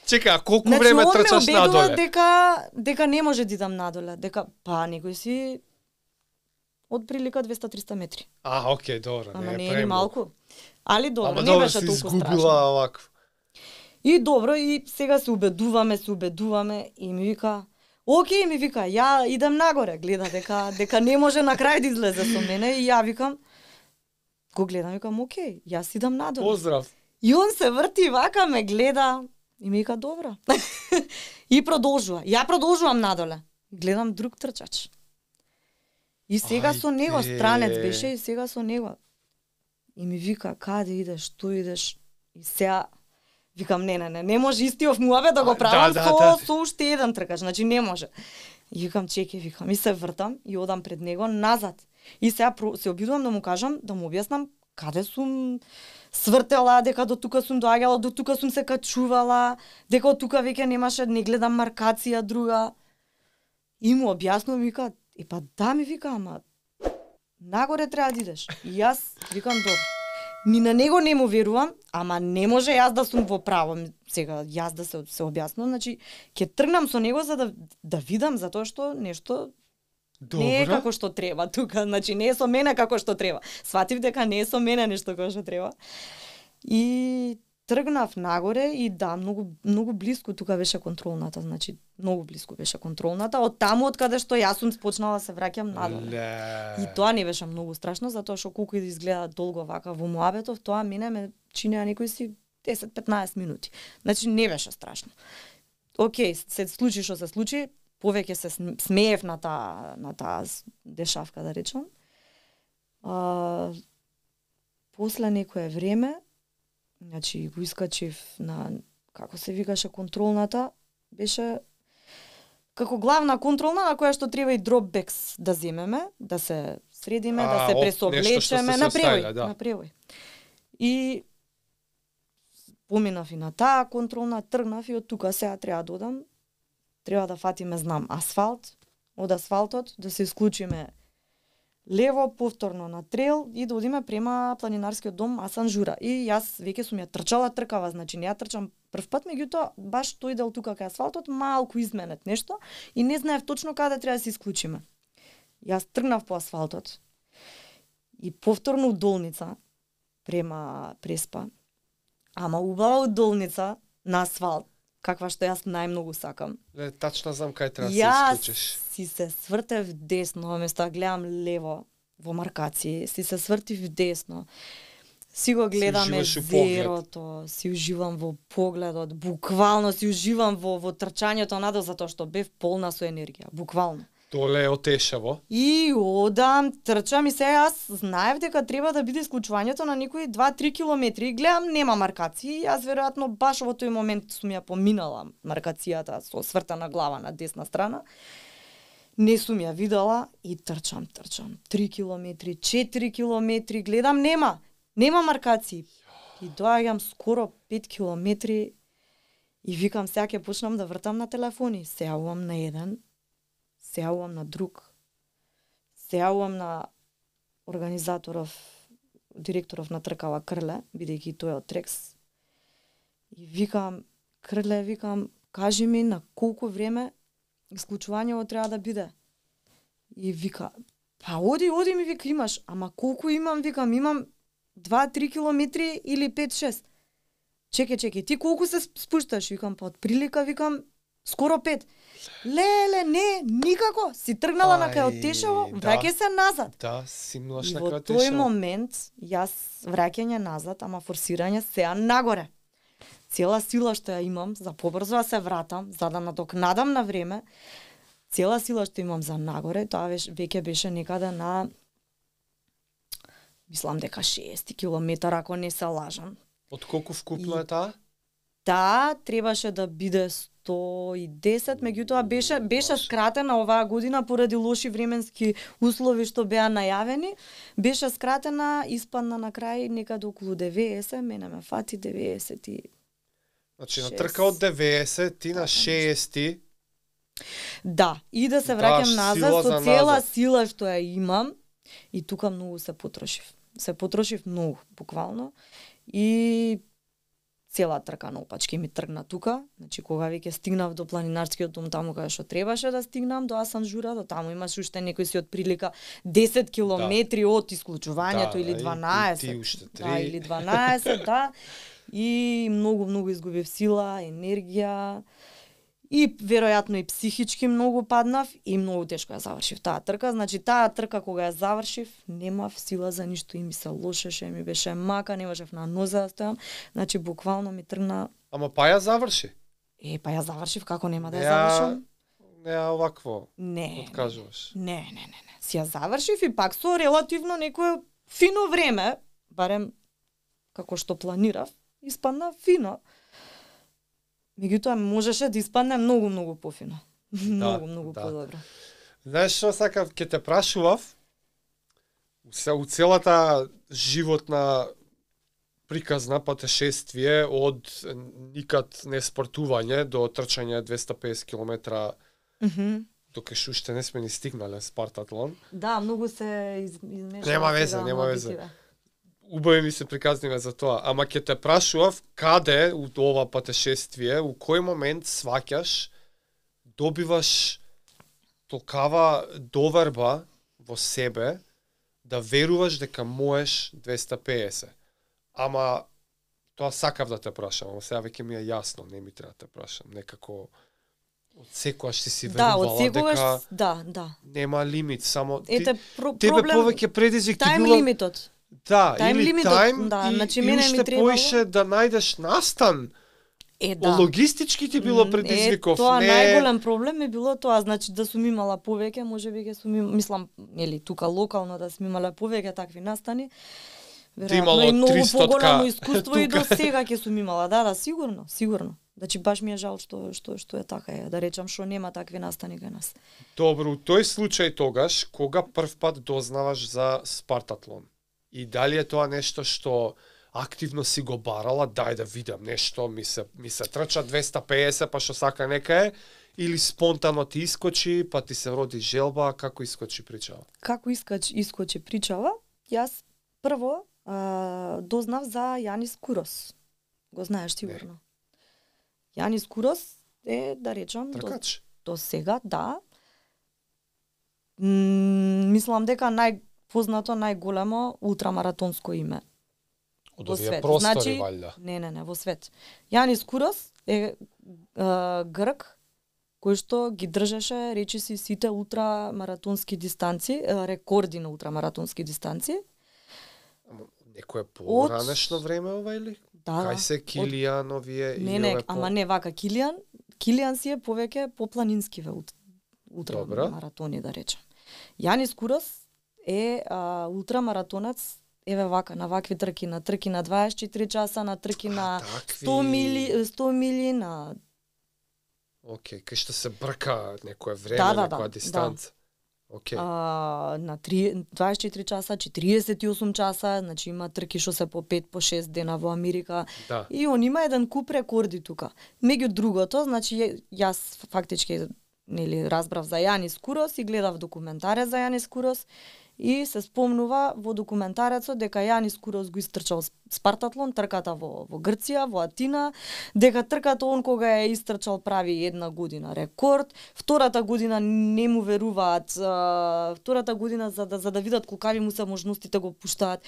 Чека, а колку Значи, време он ме трчаш убедува надоле? дека дека не може да идам надоле, дека па некој си од прилика двеста до триста метри. А, окей, добро, Ама не не е е ни премногу. малку. Али добро, Ама не добро, беше се толку изгубила страшно. овакво. И добро, и сега се убедуваме, се убедуваме и ми вика, окей, ми вика, ја идам нагоре, гледа дека дека не може на крај да излезе со мене и ја викам, го гледам, викам, окей, јас идам надоле. Поздрав. И он се врти вака, ме гледа и ми вика, добро. И продолжува. Ја продолжувам надоле. Гледам друг трчач. И сега со него, Ајде. странец беше и сега со него. И ми вика, каде идеш, што идеш? И сега викам, не, не, не, не може истиот муабет да го А, правам да, со, да, да. со уште еден тркач, значи не може. И викам, чеке, викам, и се вртам и одам пред него назад. И сега про- се обидувам да му кажам, да му објаснам каде сум свртела, дека до тука сум доаѓала, до тука сум се качувала, дека од тука веќе немаше, не гледам маркација друга. И му објаснувам, вика, е па да, ми вика, ама нагоре треба да идеш. И јас викам, добро. Ни на него не му верувам, ама не може јас да сум во право. Сега јас да се се објаснувам, значи ќе тргнам со него за да да видам затоа што нешто не е Добро. како што треба тука, значи не е со мене како што треба. Сватив дека не е со мене нешто како што треба. И тргнав нагоре и да, многу многу блиску тука беше контролната, значи многу блиску беше контролната, од таму од каде што јас сум почнала да се враќам надоле. Ле. И тоа не беше многу страшно, затоа што колку и да изгледа долго вака во муабетов, тоа мене ме чинеа некои си десет до петнаесет минути. Значи не беше страшно. Океј, се случи што се случи, повеќе се см- смеев на таа на таа с- дешавка, да речам. А, после некое време, значи го искачив на, како се викаше контролната, беше како главна контролна на која што треба и дропбекс да земеме, да се средиме, А, да се оп, пресоблечеме нешто што сте на се превој, оставиле, да. на превој. И поминав и на таа контролна, тргнав и од тука сега треба да одам, треба да фатиме, знам, асфалт, од асфалтот да се исклучиме лево, повторно на трейл и да одиме према планинарскиот дом Асан Жура. И јас веќе сум ја трчала тркава, значи не ја трчам прв пат, меѓутоа баш тој дел тука кај асфалтот малку изменет нешто и не знаев точно каде треба да се исклучиме. Јас тргнав по асфалтот и повторно удолница према Преспа. Ама убава удолница на асфалт, каква што јас најмногу сакам. Ле, тачно знам кај треба да се Јас исклучиш. си се свртев десно, место да гледам лево во маркација, си се свртив десно. Си го гледаме уживаш у поглед. зерото, си уживам во погледот, буквално си уживам во во трчањето надо затоа што бев полна со енергија, буквално. Доле е отешаво. И одам, трчам и сега јас знаев дека треба да биде исклучувањето на некои два до три километри. И гледам, нема маркација. Јас веројатно баш во тој момент сум ја поминала маркацијата со свртана глава на десна страна. Не сум ја видела и трчам, трчам. три километри, четири километри, гледам, нема. Нема маркации. И доаѓам скоро пет километри и викам, сега ќе почнам да вртам на телефони. Се јавувам на еден, се јавувам на друг, се јавувам на организаторов, директоров на тркава Крле, бидејќи тој е од Трекс. И викам, Крле, викам, кажи ми на колку време исклучувањето треба да биде. И вика, па оди, оди ми вика имаш, ама колку имам, викам, имам два до три километри или пет до шест. Чеке, чеке, ти колку се спушташ? Викам, па од прилика, викам, Скоро пет. Леле, не, никако. Си тргнала на кај Ај, Отешево, да. враќај се назад. Да, симнуваш И на во крај тој Отешево. момент, јас враќање назад, ама форсирање сеа нагоре. Цела сила што ја имам за побрзо да се вратам, за да надокнадам на време, цела сила што имам за нагоре, тоа веќе веќе беше некаде на мислам дека шеесет километара, ако не се лажам. Од колку вкупно И- е таа? Таа требаше да биде сто и десет, меѓутоа беше беше скратена оваа година поради лоши временски услови што беа најавени, беше скратена, испадна на крај некаде околу деветесет, мене ме фати деветесет и Значи на шест. трка од деветесет, ти на Така шеесет. да, и да се Даш враќам сила назад за со цела назад. сила што ја имам и тука многу се потрошив. Се потрошив многу, буквално. И цела трка наопачки ми тргна тука. Значи кога веќе стигнав до планинарскиот дом таму каде што требаше да стигнам, до Асанжура, до таму имаш уште некој си од прилика десет километри од исклучувањето Да, или и- дванаесет. и ти уште Да, три. или дванаесет, да. И многу многу изгубив сила, енергија. И веројатно и психички многу паднав и многу тешко ја завршив таа трка. Значи таа трка кога ја завршив, немав сила за ништо и ми се лошеше, ми беше мака, не можев на нозе да стојам. Значи буквално ми тргна, Ама па ја заврши. е па ја завршив, како нема да ја Не ја- завршам? Не ја овакво Не. откажуваш. Не, не, не, не. Си ја завршив и пак со релативно некое фино време, барем како што планирав, испадна фино. Меѓутоа можеше да испадне многу многу пофино. многу многу да. подобро. Знаеш што сакав, ќе те прашував, се у целата животна приказна патешествие од никад не спортување до трчање двесте и песет километра, Мгм. докаш уште не сме ни стигнале Спартатлон. Да, многу се из, измешава. Нема везе, сега нема везе. мобитиве. Убави ми се приказниве за тоа, ама ќе те прашував каде у ова патешествие, у кој момент сваќаш, добиваш толкава доверба во себе да веруваш дека можеш двесте и песет. Ама тоа сакав да те прашам, ама сега веќе ми е јасно, не ми треба да те прашам, некако од секогаш ти си Да, од верувала секогаш, дека да, да. нема лимит, само ти, Ете, про, тебе проблем, повеќе предизвик ти тајм било лимитот. да, Тајм или лимитот, тајм да, и, значи и мене ми уште требало- поише да најдеш настан. Е, да. Логистички ти било предизвиков, Е, тоа не најголем проблем е било тоа, значи да сум имала повеќе, можеби ќе сум им, мислам, нели тука локално да сум имала повеќе такви настани. имало Веројатно и многу триста поголемо искуство и тука. до сега ќе сум имала, да, да, сигурно, сигурно. Значи баш ми е жал што што што е така, е, да речам што нема такви настани кај нас. Добро, у тој случај тогаш, кога прв пат дознаваш за Спартатлон? И дали е тоа нешто што активно си го барала, дај да видам нешто, ми се, ми се трча двесте и песет, па што сака нека е, или спонтано ти искочи, па ти се роди желба, како искочи причава? Како искач искочи причава, јас прво а, дознав за Јанис Курос. Го знаеш сигурно. Јанис Курос е, да речам, до, Тркач? до сега, да. М, мислам дека најпознато, најголемо ултрамаратонско име. Од Во овие свет. простори, Значи, валјда. Не, не, не, во свет. Јанис Курос е, е грк кој што ги држеше, речиси, сите ултрамаратонски дистанци, е, рекорди на ултрамаратонски дистанци. Ама некое поранешно време ова или? Да, Кај се Килијан, овие Не, и не, ове по... ама не вака Килијан. Килијан си е повеќе по планинскиве ут- Добро. ултрамаратони, да речем. Јанис Курос е а, ултрамаратонец, еве вака, на вакви трки, на трки на дваесет и четири часа, на трки на такви. сто мили, сто мили, на Океј, кај што се брка некое време, Да, да, некоја да, дистанца. Океј. а, на три, дваесет и четири часа, четириесет и осум часа, значи има трки што се по пет, по шест дена во Америка. Да. И он има еден куп рекорди тука. Меѓу другото, значи ја- јас фактички нели разбрав за Јанис Курос и гледав документаре за Јанис Курос и се спомнува во документарецот дека Јанис Курос го истрчал Спартатлон, трката во, во Грција, во Атина, дека трката он кога е истрчал прави една година рекорд, втората година не му веруваат, втората година за да, за да видат колкави му се можностите го пуштаат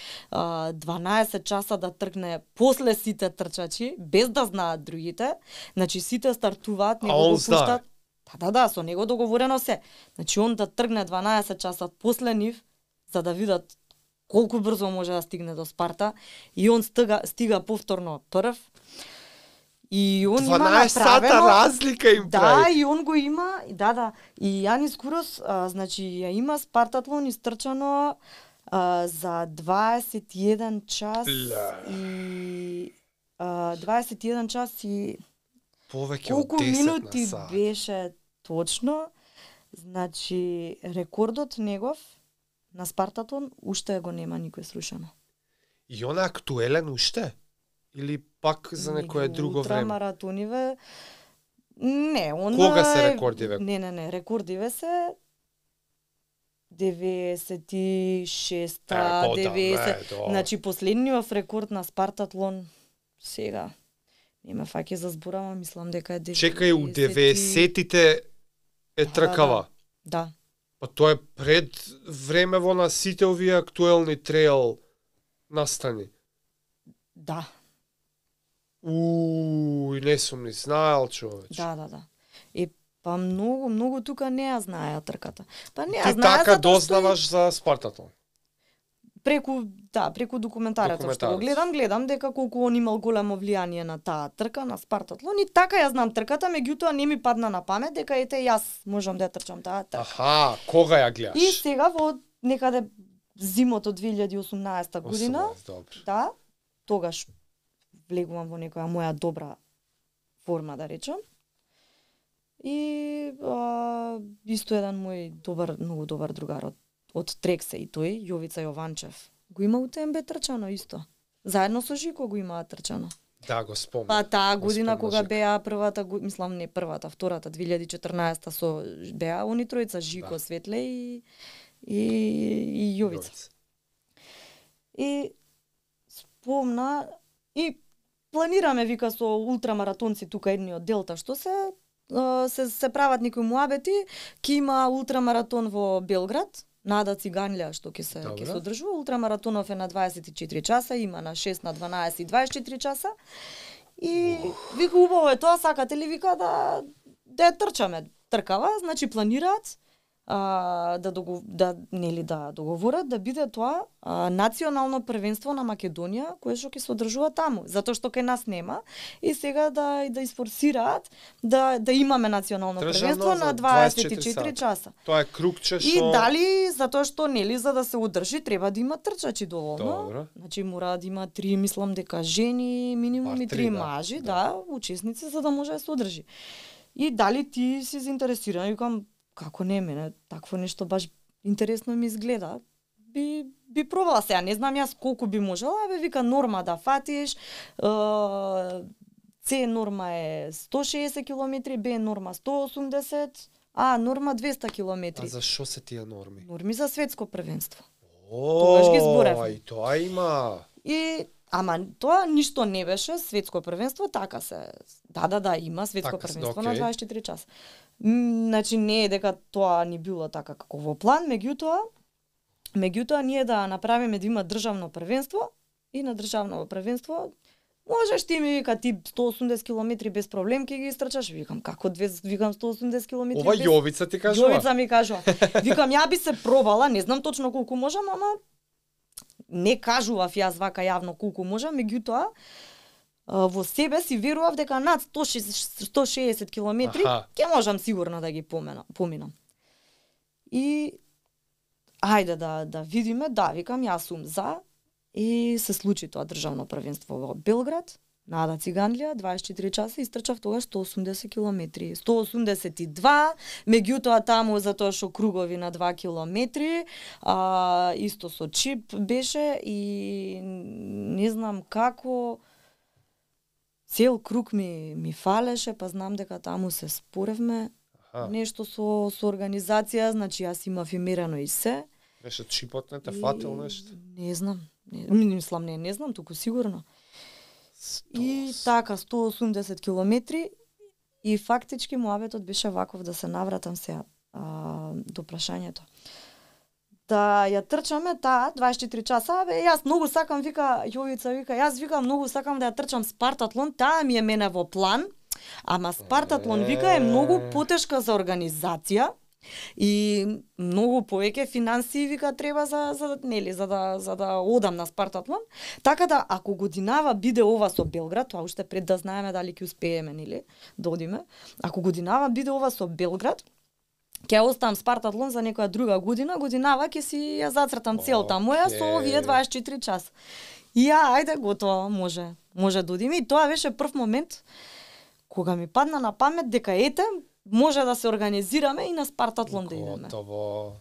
дванаесет часа да тркне после сите трчачи, без да знаат другите, значи сите стартуваат, него го пуштаат. Да, да, да, со него договорено се. Значи он да тргне дванаесет часа после нив, за да видат колку брзо може да стигне до Спарта, и он стига, стига повторно прв. И он има направено разлика им да, прави. Да, и он го има, да, да. И Јанис Курос, а, значи ја има Спартатлон истрчано а, за дваесет и еден час Ля. и а, дваесет и еден час и повеќе од колку десет минути на сат. беше точно. Значи рекордот негов на Спартатлон уште го нема никој срушено. И он е актуелен уште? Или пак за некое друго време? Ултрамаратониве не, он Кога се е... рекордиве? Не, не, не, рекордиве се деветдесет и шеста, Е, деветдесет. да. Значи последниот рекорд на Спартатлон сега не ме фаќа за зборава, мислам дека е деветдесет. Чекај, у деветдесетите е тркава. Да, да. Па тоа е пред времево на сите овие актуелни трейл настани. Да. Ууу, не сум ни знаел, човеч. Да, да, да. Е, па многу, многу тука не ја знаеа трката. Па не ја Ти знаеа така затоа што дознаваш за Спартатлон? преку, да, преку документарецот што го Документарец. гледам, гледам дека колку он имал големо влијание на таа трка на Спартатлон, и така ја знам трката, меѓутоа не ми падна на памет дека ете јас можам да ја трчам таа трка. Аха, кога ја гледаш? И сега во некаде зимото две илјади и осумнаесета година, осумнаесет, добро. да, тогаш влегувам во некоја моја добра форма, да речам. И а, исто еден мој добар, многу добар другар од, од Трексе и тој, Јовица Јованчев, го има у ТМБ трчано исто. Заедно со Жико го имаа трчано. Да, го спомнам. Па таа Го година спомнам, кога Жико. беа првата, го- мислам не првата, втората, две илјади и четрнаесета со беа они тројца, Жико, Да. Светле и и, и Јовица. Јовица. И спомна и планираме вика со ултрамаратонци тука едни од Делта што се а, се се прават некои муабети, ќе има ултрамаратон во Белград, Нада Циганлија што ќе се ќе Добро. се одржува. Ултрамаратонов е на дваесет и четири часа, има на шест, на дванаесет и дваесет и четири часа. И вика убаво е тоа, сакате ли вика да да ја трчаме. Тркава, значи планираат а, да догов... да нели да договорат да биде тоа а, национално првенство на Македонија кое што ќе се одржува таму, затоа што кај нас нема, и сега да да испорсираат да да имаме национално Државно првенство за на дваесет и дваесет и четири четири часа. Тоа е кругче И што... дали затоа што нели за да се одржи треба да има трчачи доволно. Добро. Значи мора да има три, мислам дека жени, минимум Бар и три, три да. мажи, Да. да, учесници за да може да се одржи. И дали ти си заинтересиран, викам како не, мене такво нешто баш интересно ми изгледа. Би би пробала сега, не знам јас колку би можела, бе вика норма да фатиш. Е, С норма е сто и шеесет километри, Б норма сто и осумдесет, А норма двеста километри. А за што се тие норми? Норми за светско првенство. О, Тогаш ги зборевме. И тоа има. И ама тоа ништо не беше светско првенство, така се. Да, да, да, има светско Така се, првенство окей. на дваесет и четири часа. М, Значи не е дека тоа ни било така како во план, меѓутоа меѓутоа ние да направиме да има државно првенство и на државно првенство можеш ти ми вика ти сто и осумдесет километри без проблем ќе ги истрчаш. Викам како две викам сто и осумдесет километри Ова без Јовица ти кажува. Јовица ми кажува. Викам ја би се пробала, не знам точно колку можам, ама не кажував јас вака јавно колку можам, меѓутоа а, во себе си верував дека над сто и шеесет сто и шеесет километри Аха. ќе можам сигурно да ги помена, поминам. И ајде да да видиме, да, викам јас сум за, и се случи тоа државно првенство во Белград. Нада Циганлија, дваесет и четири часа, истрчав тогаш сто и осумдесет километри. сто и осумдесет и два, меѓутоа таму затоа што кругови на два километри, а, исто со чип беше и не знам како цел круг ми ми фалеше, па знам дека таму се споревме Аха. нешто со со организација, значи јас имав и мерено и се. Беше чипот, не те фатил нешто? Не знам. Не, мислам, не, не знам, туку сигурно. И така, сто и осумдесет километри, и фактички муабетот беше ваков, да се навратам сега а, до прашањето. Да ја трчаме таа дваесет и четири часа, бе, јас многу сакам, вика Јовица, вика, јас вика многу сакам да ја трчам Спартатлон, таа ми е мене во план, ама Спартатлон, вика, е многу потешка за организација и многу повеќе финансии, вика, треба за за нели за да за да одам на Спартатлон. Така да ако годинава биде ова со Белград, тоа уште пред да знаеме дали ќе успееме нели да одиме. Ако годинава биде ова со Белград, ќе оставам Спартатлон за некоја друга година, годинава ќе си ја зацртам целта моја со овие дваесет и четири часа. И ја, ајде, готово, може, може да одиме. И тоа беше прв момент кога ми падна на памет дека ете, може да се организираме и на Спартатлон да идеме. Готово.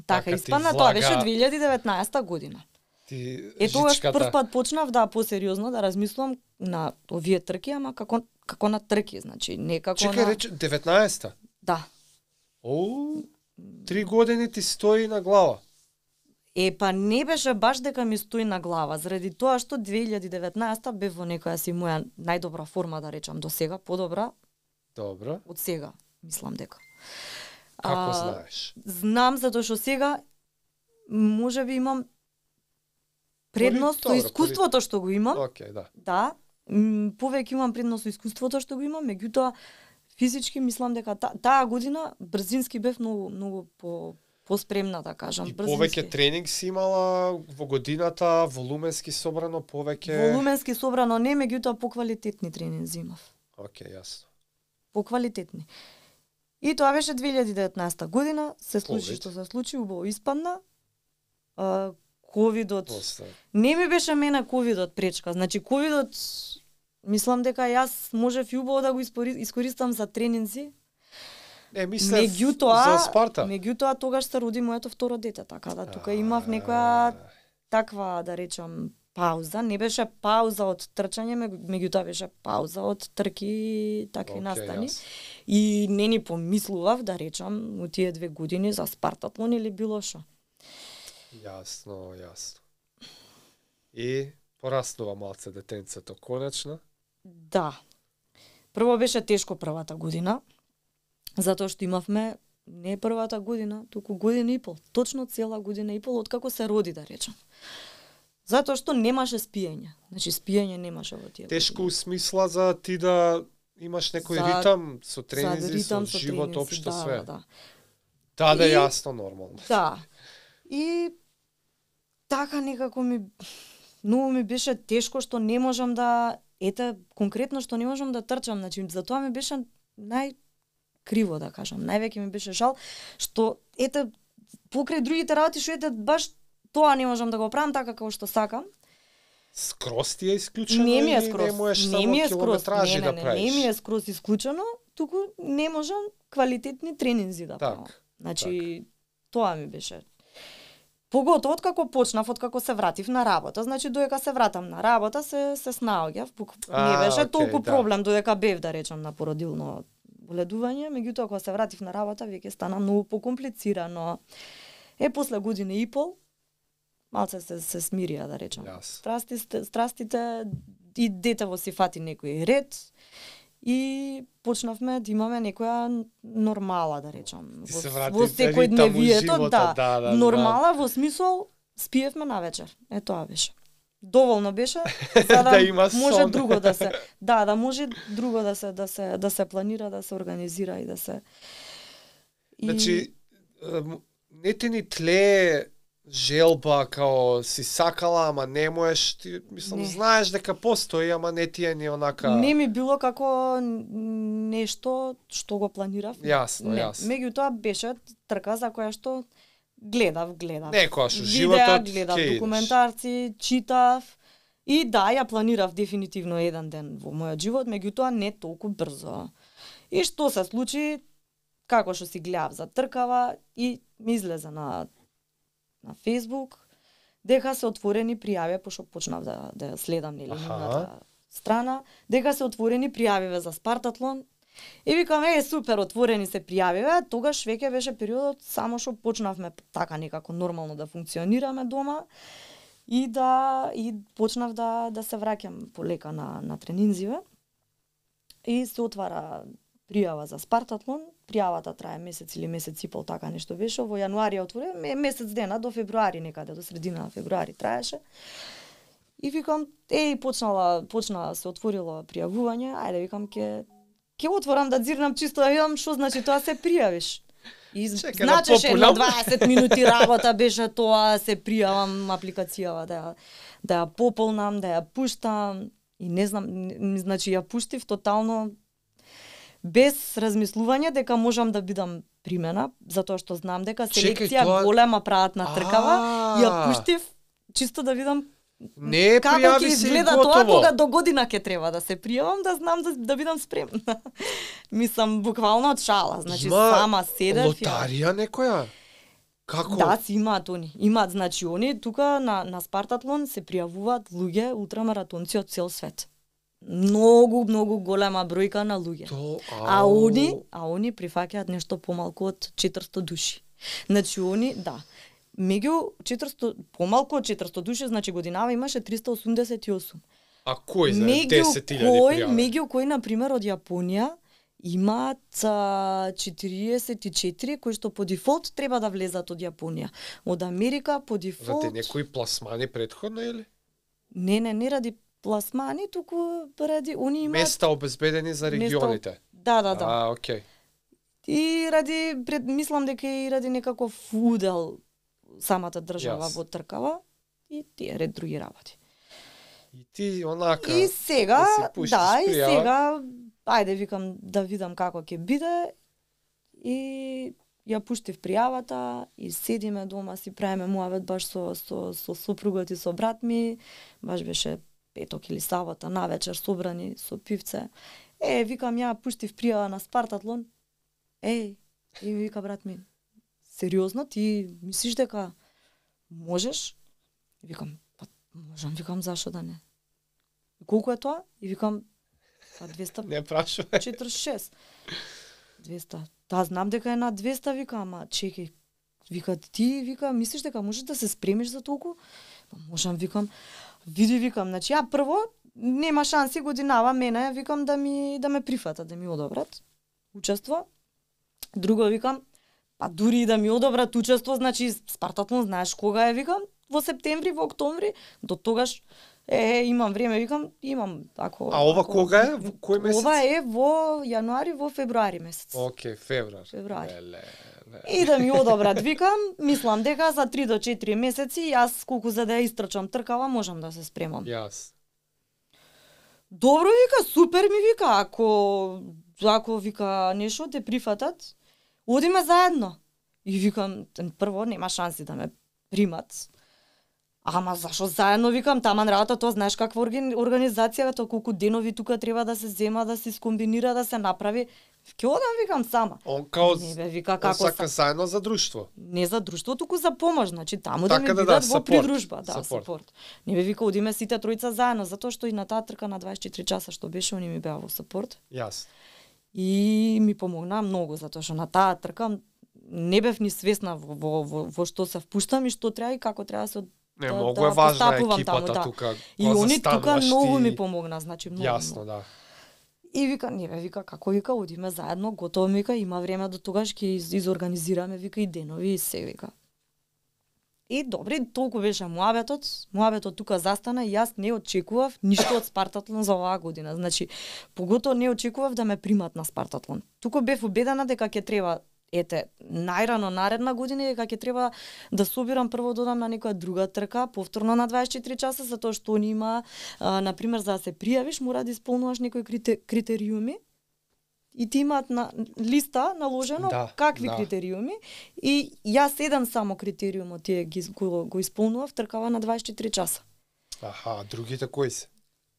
Така, испадна, тоа беше две илјади и деветнаесета година. Ти Е, тогаш жичката. прв пат почнав да посериозно да размислувам на овие трки, ама како како на трки, значи не како Чекај, на... рече, деветнаесета? Да. Оу, три години ти стои на глава. Е, па не беше баш дека ми стои на глава, заради тоа што две илјади и деветнаесета бев во некоја си моја најдобра форма, да речам, до сега, подобра Добро. од сега, мислам дека. Како А, знаеш? Знам, затоа што сега можеби имам предност со Добро, искуството што го имам. Океј, да. Да, м, повеќе имам предност со искуството што го имам, меѓутоа физички мислам дека та, таа година брзински бев многу многу по поспремна, да кажам, И брзински. повеќе тренинг си имала во годината, волуменски собрано повеќе. Волуменски собрано не, меѓутоа поквалитетни тренинзи имав. Океј, јасно. Поквалитетни. И тоа беше две илјади и деветнаесета година, се случи Ковид. што се случи, убаво испадна. А, ковидот После. не ми беше мене ковидот пречка. Значи ковидот мислам дека јас можев и убаво да го испори- искористам за тренинзи. Не, мислев Меѓутоа, за Спарта. меѓутоа тогаш се роди моето второ дете, така да тука имав некоја таква, да речам, пауза. Не беше пауза од трчање, меѓу- меѓутоа беше пауза од трки такви Океј, настани. јасно. И не ни помислував, да речам, у тие две години за Спартатлон или било шо. Јасно, јасно. И пораснува малце детенцето конечно. Да. Прво беше тешко првата година, затоа што имавме не првата година, туку година и пол, точно цела година и пол откако се роди, да речам. Затоа што немаше спиење. Значи спиење немаше во тие. Тешко у смисла за ти да имаш некој За- ритам со години. тренинзи, ритам, со живот тренинзи, општо да, све. Да, да. Да, да, И- јасно, нормално. Да. И така некако ми многу ми беше тешко што не можам да ете конкретно што не можам да трчам, значи затоа ми беше нај криво да кажам. Највеќе ми беше жал што ете покрај другите работи што ете баш тоа не можам да го правам така како што сакам. Скроз ти е исклучено Не ми е или скроз. не можеш Не само ми е скроз. километражи Не, не, да не, правиш? не ми е скроз исклучено, туку не можам квалитетни тренинзи да Так, правам. Значи тоа ми беше. Поготово откако почнав, откако се вратив на работа, значи додека се вратам на работа се се снаоѓав, А, не беше окей, толку да. проблем додека бев да речам на породилно боледување, меѓутоа кога се вратив на работа веќе стана многу покомплицирано. Е после година и пол малце се се смирија да речам. Јас. Страстите, страстите и детево си фати некој ред и почнавме да имаме некоја нормала, да речам. Ти Во, се врати во секојдневието, живота, да, да, да, нормала во смисол спиевме на вечер. Е тоа беше. Доволно беше за да, Да има може сон. друго да се да, да може друго да се да се да се планира, да се организира и да се и... Значи, ем, не ти ни тлее желба као си сакала, ама не можеш, ти мислам Не. знаеш дека постои, ама не ти е ни онака. Не ми било како нешто што го планирав. Јасно, не. јасно. Меѓутоа беше трка за која што гледав, гледав. Некојаш у Видеа, животот гледав ќе идеш. документарци, читав и да, ја планирав дефинитивно еден ден во мојот живот, меѓутоа не толку брзо. И што се случи, како што си гледав за тркава и ми излезе на на Facebook дека се отворени пријави, пошто почнав да да ја следам нели Аха. нивната страна, дека се отворени пријавиве за Спартатлон И викам, е, супер, отворени се пријавиве, тогаш веќе беше периодот само што почнавме така некако нормално да функционираме дома и да и почнав да да се враќам полека на на тренинзиве. И се отвара пријава за Спартатлон. Пријавата трае месец или месец и пол, така нешто беше. Во јануари ја отворија, месец дена до февруари некаде, до средина на февруари траеше. И викам, еј, почнала, почна се отворило пријавување, ајде викам ќе ќе отворам да дзирнам чисто да видам што значи тоа се пријавиш. И Чека, значеше да едно дваесет минути работа беше тоа, се пријавам апликацијава да ја да ја пополнам, да ја пуштам и не знам, значи ја пуштив тотално без размислување дека можам да бидам примена, затоа што знам дека селекција тоа... голема прават на тркава, ја пуштив чисто да видам не како пријави ќе се изгледа готово. тоа кога до година ќе треба да се пријавам, да знам да, да бидам спремна. Мислам буквално од шала, значи Има сама седев. лотарија некоја? Како? Да, си имаат они. Имаат, значи они тука на на Спартатлон се пријавуваат луѓе ултрамаратонци од цел свет. Многу, многу голема бројка на луѓе. То, а они, а они прифаќаат нешто помалку од четиристо души. Значи они, да. Меѓу четиристо, помалку од четиристо души, значи годинава имаше триста осумдесет и осум. А кој за Меѓу десет илјади кој, пријави? меѓу кој, например, од Јапонија имаат а, четириесет и четири кои што по дефолт треба да влезат од Јапонија. Од Америка по дефолт... Ради некои пласмани претходно, или? Не, не, не ради пласмани, туку ради... Они имаат... Места обезбедени за регионите? Места... Да, да, да. А, окей. И ради, пред, мислам дека и ради некаков удел самата држава Јас. во тркава и тие ред други работи. И ти онака... И сега, да си пуштиш да, и пријава. сега, ајде викам да видам како ќе биде и ја пуштив пријавата и седиме дома, си правиме муавет баш со, со, со сопругот и со брат ми, баш беше петок или сабота навечер собрани со пивце. Е, викам, ја пуштив пријава на Спартатлон. Еј, и вика брат ми, сериозно, ти мислиш дека можеш? И викам, па можам, викам, зашо да не? И колку е тоа? И викам, па двеста Не прашувам. четиридесет и шест. двеста. Да, знам дека е на двеста, вика, ама чекај. Вика, ти, вика, мислиш дека можеш да се спремиш за толку? Па можам, викам, види, викам, значи ја прво нема шанси годинава мене, викам, да ми да ме прифатат, да ми одобрат учество. Друго, викам, па дури и да ми одобрат учество, значи Спартатлон знаеш кога е, викам, во септември, во октомври, до тогаш е, имам време, викам, имам, ако... А ова ако, кога е? Во кој месец? Ова е во јануари, во февруари месец. Океј, февруар. Февруари. Леле, леле. И да ми одобрат, викам, мислам дека за три до четири месеци, јас колку за да ја истрчам тркава, можам да се спремам. Јас. Добро, вика, супер ми вика, ако, ако вика, нешто те прифатат, одиме заедно. И викам, прво, нема шанси да ме примат. Ама зашо заедно, викам, таман работа, тоа знаеш каква организација, тоа колку денови тука треба да се зема, да се скомбинира, да се направи. Ќе одам, викам, сама. Он као Не бе, вика, он како сака са... заедно за друштво. Не за друштво, туку за помош, значи таму Така да ми да, да, бидат во сапорт, придружба, да, сапорт. сапорт. Не бе, вика, одиме сите тројца заедно, затоа што и на таа трка на дваесет и четири часа што беше, они ми беа во сапорт. Јас. И ми помогна многу, затоа што на таа трка не бев ни свесна во, во, во, во што се впуштам и што треба и како треба да се Не, да, многу да е важна постапувам екипата таму, да. тука. И кога они тука застануваш многу ти- ми помогна, значи многу. Јасно, многу. да. И вика, не бе, вика, како вика, одиме заедно, готово ми вика, има време до тогаш ќе из, изорганизираме, вика, и денови и се, вика. И добри, толку беше муабетот, муабетот тука застана и јас не очекував ништо од Спартатлон за оваа година. Значи, поготово не очекував да ме примат на Спартатлон. Туку бев убедена дека ќе треба, ете, најрано наредна година дека ќе треба да собирам прво додам на некоја друга трка, повторно на дваесет и четири часа, затоа што они има, а, например, за да се пријавиш, мора да исполнуваш некои крите, критериуми. И ти имаат на листа наложено Да, какви да. критериуми и јас еден само критериумот тие ги го, го исполнував, тркава на дваесет и четири часа. Аха, другите кои се?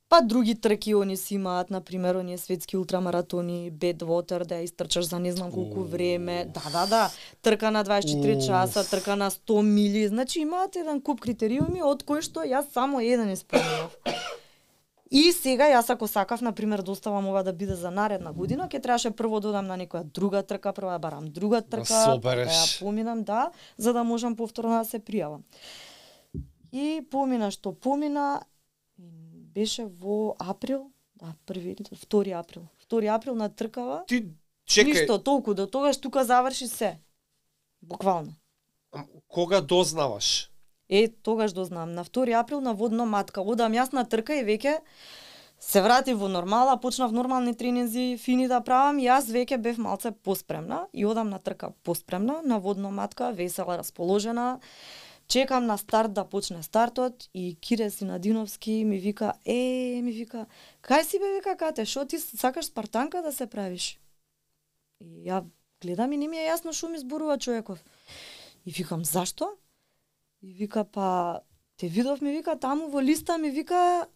Па други трки они си имаат, например, оние светски ултрамаратони, Badwater, да ја истрчаш за не знам колку Уф. време. Да, да, да. Трка на дваесет и четири Уф. часа, трка на сто мили. Значи имаат еден куп критериуми од кои што јас само еден исполнував. И сега јас ако сакав на пример да оставам ова да биде за наредна година, ќе требаше прво да одам на некоја друга трка, прво да барам друга трка, да, да ја поминам, да, за да можам повторно да се пријавам. И помина што помина, беше во април, да, први, втори април. Втори април на тркава. Ти чекај. Ништо толку до тогаш тука заврши се. Буквално. Кога дознаваш? Е, тогаш дознам. На втори април на водно матка. Одам јас на трка и веќе се вратив во нормала, почнав нормални тренинзи, фини да правам, и јас веќе бев малце поспремна и одам на трка поспремна, на водно матка, весела, расположена. Чекам на старт да почне стартот и Кире Синадиновски ми вика, е, ми вика, кај си бе, вика, Кате, шо ти сакаш спартанка да се правиш? И ја гледам и не ми е јасно шо ми зборува човеков. И викам, зашто? И вика, па, те видов, ми вика, таму во листа, ми вика,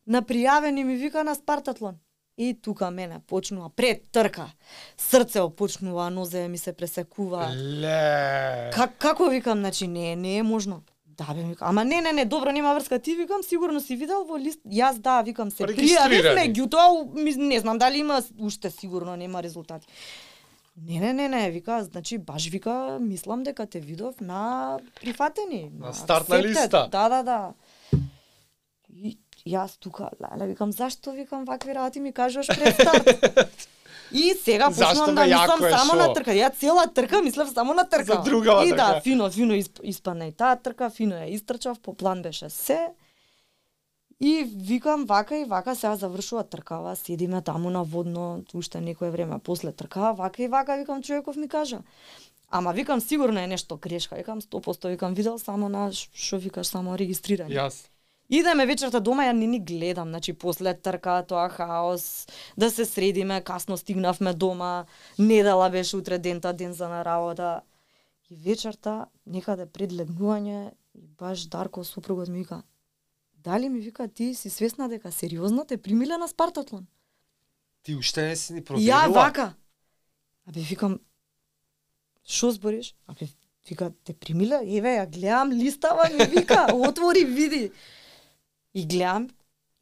на пријавени, ми вика, на Спартатлон. И тука мене почнува пред трка. Срцео почнува, нозе ми се пресекува. Ле. Как, како викам, значи не, не е можно. Да бе, викам, ама не, не, не, добро, нема врска. Ти викам, сигурно си видел во лист. Јас да, викам, се пријавив, меѓутоа, не знам дали има уште, сигурно нема резултати. Не, не, не, не, вика, значи баш вика, мислам дека те видов на прифатени. На стартна листа. Да, да, да. И јас тука, леле, викам, зашто, викам, вакви работи ми кажуваш пред старт? И сега почнувам да мислам само шо? на трка. Ја цела трка мислев само на трка. За другава и трка. да, фино, фино испадна и таа трка, фино ја истрчав, по план беше се. И викам вака и вака, сега завршува тркава, седиме таму на водно, уште некое време после тркава, вака и вака, викам, човеков ми кажа. Ама викам, сигурно е нешто грешка, викам, сто проценти, викам, видел само на, шо викаш, само регистрирање. Јас. Идеме вечерта дома, ја не ни гледам, значи после трка, тоа хаос, да се средиме, касно стигнавме дома, недела беше утре дента, ден за на работа. И вечерта, некаде пред легнување, баш Дарко, супругот ми вика, дали ми вика, ти си свесна дека сериозно те примиле на Спартатлон? Ти уште не си ни проверила? Ја вака. Абе, викам, шо збориш? Абе, вика, те примиле? Еве, ја гледам листава, ми вика, отвори, види. И гледам,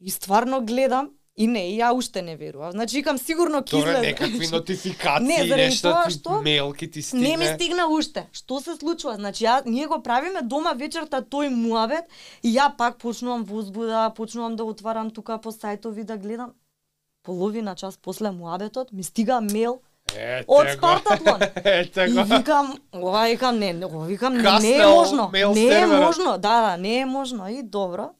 и стварно гледам, и не, и ја уште не верувам. Значи, викам, сигурно ќе Добре, излезе. некакви нотификации, Не, заради нешто, тоа ти што мејлки ти стигне. Не ми стигна уште. Што се случува? Значи, ја, ние го правиме дома вечерта тој муабет и ја пак почнувам возбуда, почнувам да отварам тука по сајтови да гледам. Половина час после муабетот ми стига мејл од Спартатлон. И викам, ова викам не, ова викам не, не е можно. Не е можно. Да, да, не е можно. И добро.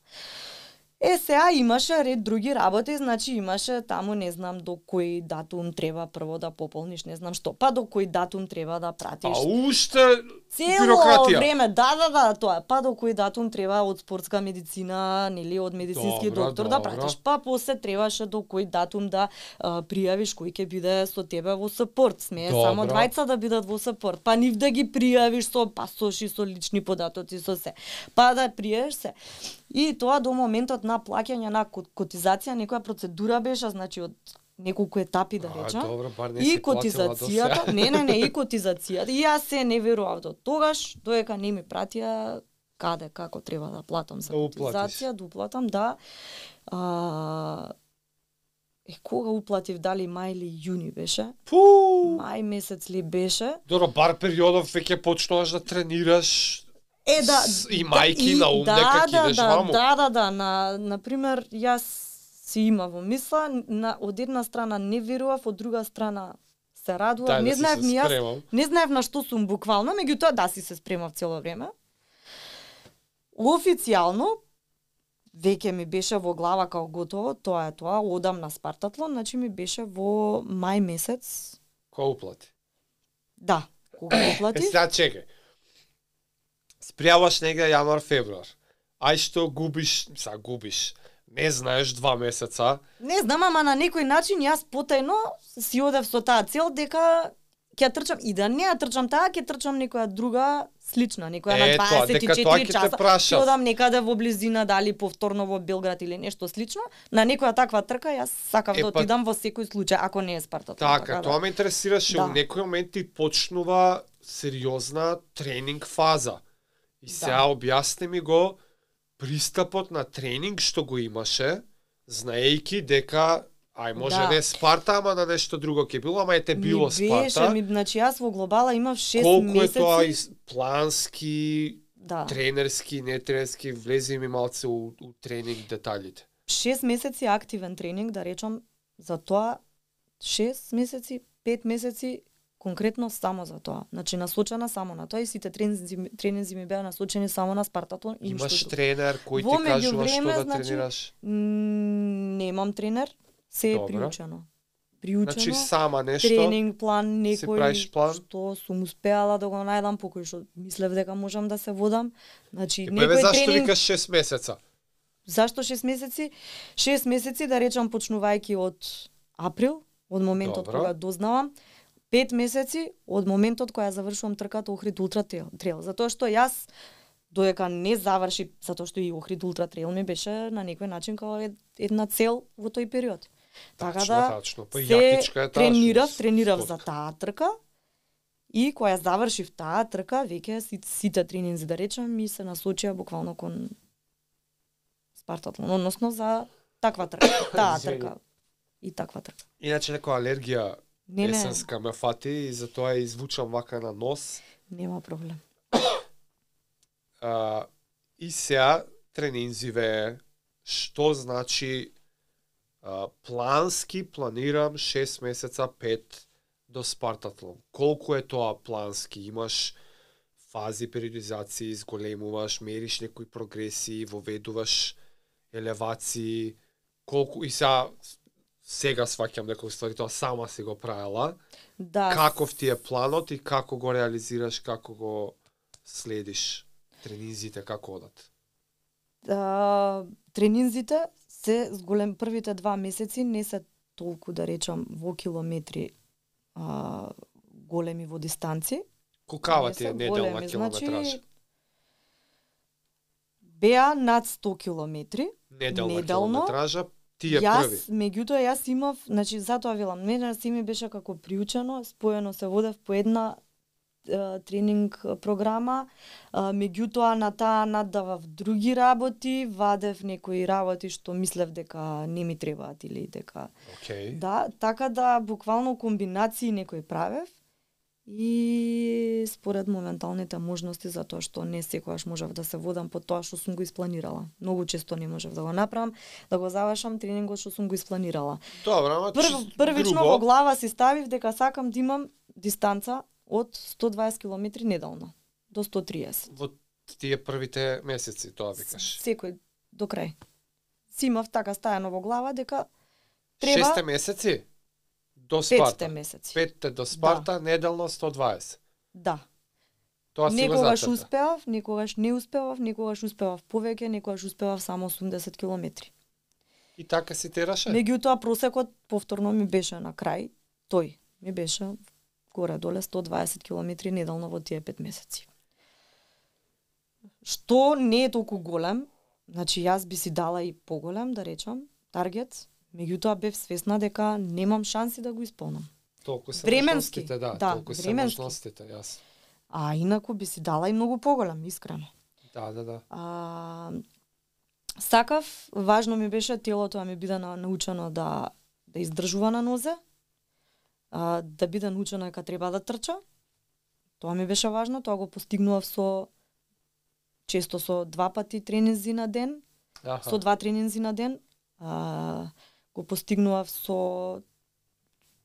Е, сега имаше ред други работи, значи имаше таму, не знам, до кој датум треба прво да пополниш, не знам што, па до кој датум треба да пратиш. А уште Цело бирократија. време, да, да, да, тоа, па до кој датум треба од спортска медицина, нели, од медицински Добра, доктор да добра. пратиш, па после требаше до кој датум да а, пријавиш кој ќе биде со тебе во сапорт, смее Добра. само двајца да бидат во сапорт, па нив да ги пријавиш со пасоши, со лични податоци, со се, па да пријавиш се. И тоа до моментот на плаќање на котизација, некоја процедура беше, значи од неколку етапи да речам. А, добро, бар не И си платила котизацијата, до не, не, не, и котизацијата. И јас се не верував до тогаш, доека не ми пратија каде, како треба да платам за Да уплатиш. котизација, да уплатам, да. А, е, кога уплатив, дали мај или јуни беше? Пу! Мај месец ли беше? Добро, бар периодов веќе почнуваш да тренираш. Е, да, С- и мајки да, на ум да, дека да, идеш да, ваму. Да, да, да, на, например, јас си има во мисла, на, од една страна не верував, од друга страна се радував, Дај не да си знаев се ни јас, спремам. не знаев на што сум буквално, меѓутоа да си се спремав цело време. Официјално, веќе ми беше во глава као готово, тоа е тоа, одам на Спартатлон, значи ми беше во мај месец, Кој уплати? да, кога Е, уплатив. сега чекај. Спријаваш негде јануар, февруар. Ај што губиш, сега губиш. Не знаеш два месеца. Не знам, ама на некој начин јас потајно си одев со таа цел дека ќе трчам и да не ја трчам таа, ќе трчам некоја друга слична, некоја на Е, тоа, дека дваесет и тоа ќе четири те часа. прашав. Ќе одам некаде во близина, дали повторно во Белград или нешто слично. На некоја таква трка јас сакав Е, да па- отидам во секој случај, ако не е Спартатлон. Така, тоа ме интересираше. Да. У некој момент ти почнува сериозна тренинг фаза. И сега објасни ми го пристапот на тренинг што го имаше знаејќи дека ај може Да. не Спарта, ама на нешто друго ќе било, ама ете било Ми беше, Спарта. ми, значи јас во глобала имав шест Колку месеци. е тоа из плански, Да. тренерски, не тренерски, влези ми малце у, у тренинг деталите. шест месеци активен тренинг, да речам, за тоа шест месеци, пет месеци конкретно само за тоа. Значи насочена само на тоа и сите тренинзи, тренинзи ми беа насочени само на Спартатлон и ништо Имаш друго. тренер кој Во ти кажува меѓувреме, што да значи, тренираш? М, Немам тренер, се е Добро. приучено. Приучено. Значи сама нешто. Тренинг план си правиш некој план? што сум успеала да го најдам по кој што мислев дека можам да се водам. Значи И па еве некој зашто тренинг викаш шест месеца? Зашто шест месеци? шест месеци, да речам, почнувајќи од април, од моментот Добро. кога дознавам, пет месеци од моментот кога ја завршувам трката Охрид Ултра Трейл. Затоа што јас додека не заврши, затоа што и Охрид Ултра Трейл ми беше на некој начин како ед- една цел во тој период. Така Тачно, да тачно. Па се јакичка е таа. тренирав, што- тренирав спорт. за таа трка и кога ја завршив таа трка, веќе си- сите тренинзи, да речем, ми се насочија буквално кон Спартатлон, односно за таква трка, таа Извини. трка и таква трка. Иначе некоја алергија Не, не, есенска ме фати и затоа ја извучам вака на нос. нема проблем. А, и сега тренинзиве, што значи а, плански планирам шест месеца, пет до Спартатлон. Колку е тоа плански? Имаш фази периодизации, изголемуваш, мериш некои прогресии, воведуваш елевации, колку и сега сега сваќам некои ствари, тоа сама си го правела. Да, Каков ти е планот и како го реализираш, како го следиш? Тренинзите како одат? а, тренинзите се зголем првите два месеци не се толку, да речам, во километри а, големи во дистанци. Колкава Не ти е се неделна големи, километража? значи, беа над сто километри. Неделна неделно, километража, ти е Јас, први. меѓутоа, јас имав, значи, затоа велам, мене си ми беше како приучено, споено се водев по една е, тренинг програма, е, меѓутоа на таа наддавав други работи, вадев некои работи што мислев дека не ми требаат или дека... Океј. Да, така да буквално комбинации некои правев и според моменталните можности, затоа што не секогаш можев да се водам по тоа што сум го испланирала. Многу често не можев да го направам, да го завршам тренингот што сум го испланирала. Добро, ама Прв, чист првично грубо, во глава си ставив дека сакам да имам дистанца од сто дваесет километри неделно до сто триесет. во тие првите месеци, тоа викаш. Секој до крај. Си имав така стајано во глава дека треба Шесте месеци до Спарта. петте месеци. Петте до Спарта, неделно сто дваесет. Да. Тоа си го Некогаш зацрта. успеав, некогаш не успевав, некогаш успевав повеќе, некогаш успевав само осумдесет километри. И така си тераше? Меѓутоа просекот повторно ми беше на крај, тој ми беше горе-доле сто дваесет километри неделно во тие пет месеци. Што не е толку голем, значи јас би си дала и поголем, да речам, таргет, меѓутоа бев свесна дека немам шанси да го исполнам. Толку се Временски, можностите, да, да, толку се временски. можностите, јас. А инаку би си дала и многу поголем, искрено. Да, да, да. А, сакав, важно ми беше телото да ми биде на- научено да да издржува на нозе, а, да биде научено дека треба да трча. Тоа ми беше важно, тоа го постигнував со често со два пати тренинзи на ден, Аха. со два тренинзи на ден. А, го постигнував со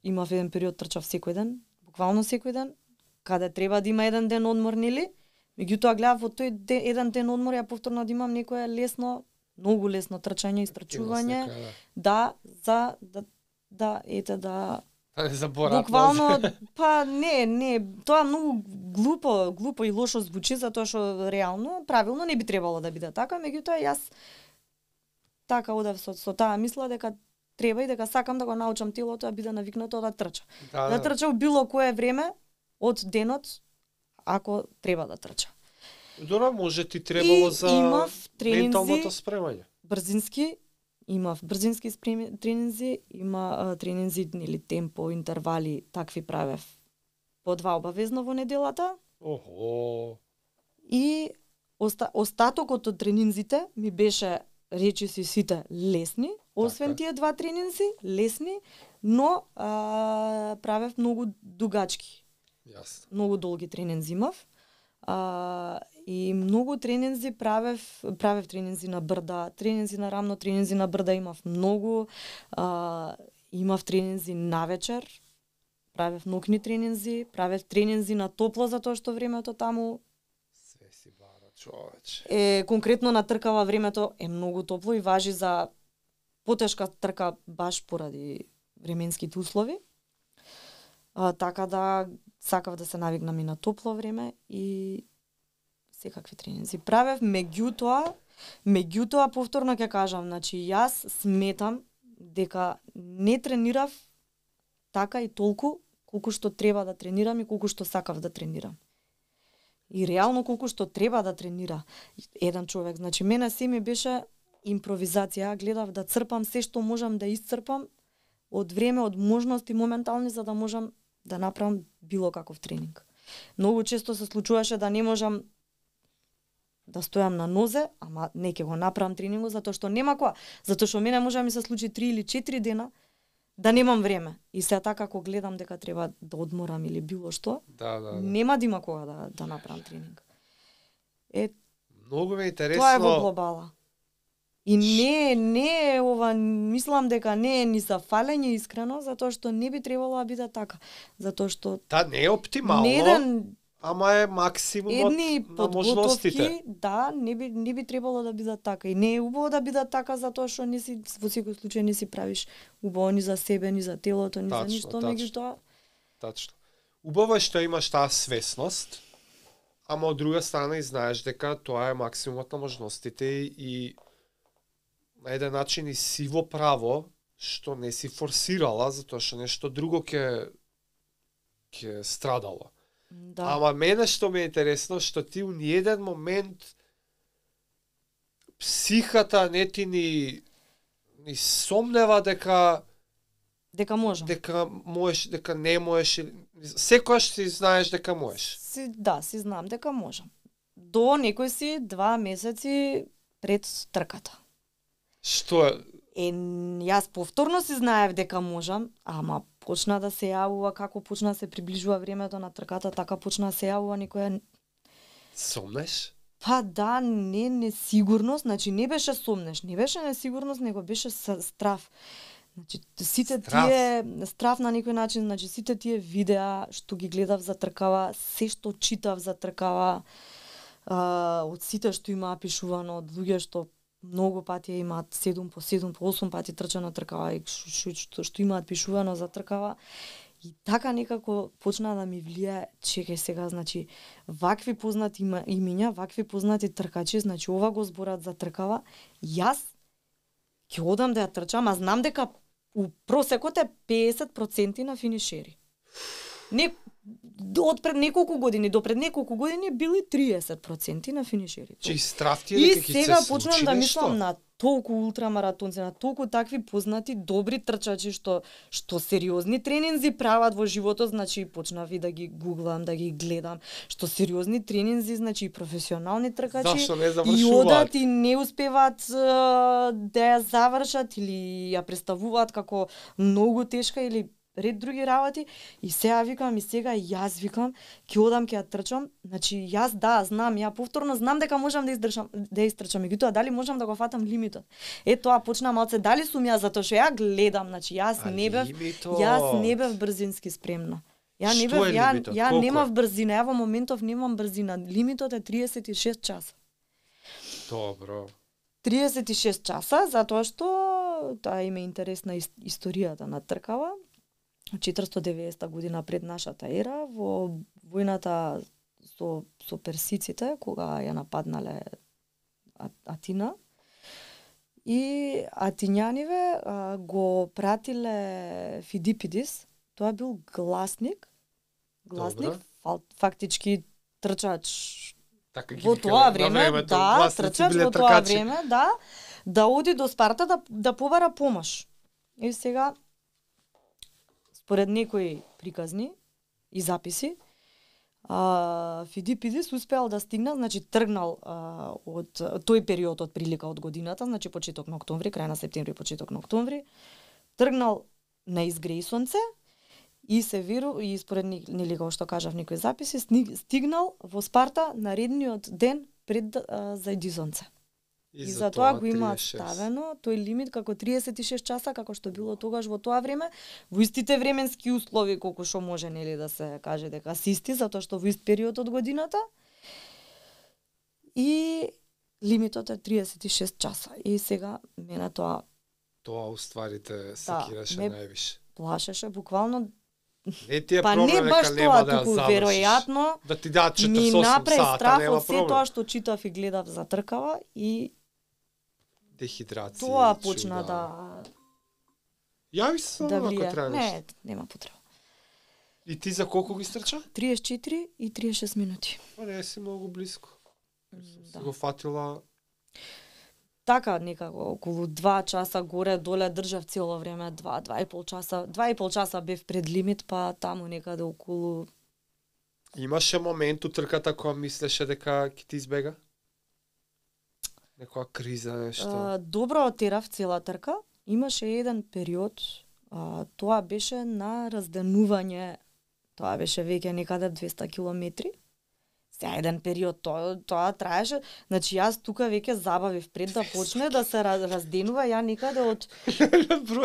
имав еден период трчав секој ден, буквално секој ден, каде треба да има еден ден одмор, нели? Меѓутоа гледав во тој де, еден ден одмор ја повторно да имам некое лесно, многу лесно трчање, истрчување, Активност нека, да, за да да ете да да. Да не заборавам. буквално па не, не, тоа многу глупо, глупо и лошо звучи затоа што реално, правилно не би требало да биде така, меѓутоа јас така одев со, со таа мисла дека треба и дека сакам да го научам телото да биде навикнато да трча. Да, Да да. трча у било кое време од денот ако треба да трча. Добро, може ти требало И за имав тренинзи- менталното спремање. Брзински, имав брзински спреми, тренинзи, има а, тренинзи или темпо, интервали, такви правев по два обавезно во неделата Охо. и оста, остатокот од тренинзите ми беше речи си сите лесни, освен Така. тие два тренинзи, лесни, но а, правев многу дугачки. Јасно. Многу долги тренинзи имав. А, и многу тренинзи правев, правев тренинзи на брда, тренинзи на рамно, тренинзи на брда имав многу. А, имав тренинзи навечер, правев нокни тренинзи, правев тренинзи на топло затоа што времето таму Све си бара, човече. е конкретно на тркава времето е многу топло и важи за потешка трка баш поради временските услови. А, така да сакав да се навигнам и на топло време и секакви тренинзи правев, меѓутоа, меѓутоа повторно ќе кажам, значи јас сметам дека не тренирав така и толку колку што треба да тренирам и колку што сакав да тренирам. И реално колку што треба да тренира еден човек. Значи мене се ми беше импровизација, гледав да црпам се што можам да исцрпам од време, од можности моментални за да можам да направам било каков тренинг. Многу често се случуваше да не можам да стојам на нозе, ама не ќе го направам тренингот затоа што нема која, затоа што мене може да ми се случи три или четири дена да немам време. И се така ако гледам дека треба да одморам или било што, Да, да, да. нема да има кога да да направам тренинг. Е, Многу ме е интересно. тоа е во глобала. И не, не е ова, мислам дека не е ни за фалење искрено, затоа што не би требало да биде така. Затоа што Да, не е оптимално, не еден ама е максимумот едни на можностите. подготовки, да, не би не би требало да бидат така. И не е убаво да бидат така затоа што не си во секој случај не си правиш убаво ни за себе, ни за телото, ни Тачно, за ништо, тачно. меѓутоа Тачно. Убаво е што имаш таа свесност, ама од друга страна и знаеш дека тоа е максимумот на можностите и на еден начин и си во право што не си форсирала затоа што нешто друго ќе ќе страдало. да. Ама мене што ми е интересно што ти у ниеден момент психата не ти ни ни сомнева дека дека можам. дека можеш, дека не можеш, или- секогаш си знаеш дека можеш. Си, да, си знам дека можам. До некои си два месеци пред трката. Што е? Е, јас повторно си знаев дека можам, ама почна да се јавува како почна да се приближува времето на трката, така почна да се јавува некоја Сомнеш? па да, не несигурност, значи не беше сомнеш, не беше несигурност, него беше с- страв. Значи сите Страв. тие страв на некој начин, значи сите тие видеа што ги гледав за тркава, се што читав за тркава, а, од сите што има пишувано, од луѓе што многу пати имаат седум по седум по осум пати трчано тркава и што, што, што имаат пишувано за тркава. И така некако почна да ми влијае, чекај сега, значи, вакви познати има, имиња, вакви познати тркачи, значи ова го зборат за тркава, јас ќе одам да ја трчам, а знам дека у просекот е педесет проценти на финишери. Не, од пред неколку години до пред неколку години били триесет проценти на финишери. Че и страв ти е И дека ќе ти сега се почнам случи да нешто? мислам на толку ултрамаратонци, на толку такви познати, добри трчачи што што сериозни тренинзи прават во животот, значи почнав и да ги гуглам, да ги гледам, што сериозни тренинзи, значи и професионални тркачи Зашто не и завршуваат? одат и не успеваат е, да ја завршат или ја представуваат како многу тешка или ред други работи и сега викам и сега јас викам ќе одам ќе ја трчам, значи јас да знам, ја повторно знам дека можам да издржам да истрчам, меѓутоа дали можам да го фатам лимитот. Е тоа почна малце дали сум јас затоа што ја гледам, значи јас А не бев лимитот? јас не бев брзински спремна. Ја не Што бев е ја лимитот? ја Колку немав е? брзина, ја во моментов немам брзина. Лимитот е триесет и шест часа. Добро. триесет и шест часа затоа што тоа име интересна ис- историјата на тркава. четиристотини и деветдесета година пред нашата ера во војната со со персиците кога ја нападнале А- Атина и атињаниве а, го пратиле Фидипидис, тоа бил гласник, гласник, Добро. фал, фактички трчач Така ги во викале тоа на време, времето, да, гласници трчач биле во тоа тркачи. време, да, да оди до Спарта да да побара помош. И сега според некои приказни и записи, А, Фидипидис успеал да стигна, значи тргнал а, од тој период од прилика од годината, значи почеток на октомври, крај на септември, почеток на октомври, тргнал на изгрејсонце и се веру и според нели како што кажав некои записи, стигнал во Спарта наредниот ден пред а, зајдизонце. И, и за тоа го имаат ставено тој лимит како триесет и шест часа, како што било тогаш во тоа време, во истите временски услови колку што може нели да се каже дека се исти, затоа што во ист период од годината. И лимитот е триесет и шест часа. И сега мене тоа тоа уствари те секираше да, највише. Плашеше буквално. Не ти е па проблем, не баш нека тоа, нема да туку ја веројатно да ти дадат ми четиридесет и осум направи сата, страф нема од се проблем. тоа што читав и гледав за тркава и Дехидрација. тоа почна да Јави се да ако влие. треба Не, нешто. нема потреба. И ти за колку ги стрча? триесет и четири и триесет и шест минути. Па не си многу близко. Си Да. го фатила. Така некако околу два часа горе доле држав цело време, два, два и пол часа, два и пол часа бев пред лимит, па таму некаде околу. Имаше момент у трката кога мислеше дека ќе ти избега? Некоја криза, нешто. А, добро отерав цела трка. Имаше еден период, а, тоа беше на разденување, тоа беше веќе некаде двесте километри. Сега еден период тоа тоа траеше, значи јас тука веќе забавив пред да почне да се разденува, ја некаде од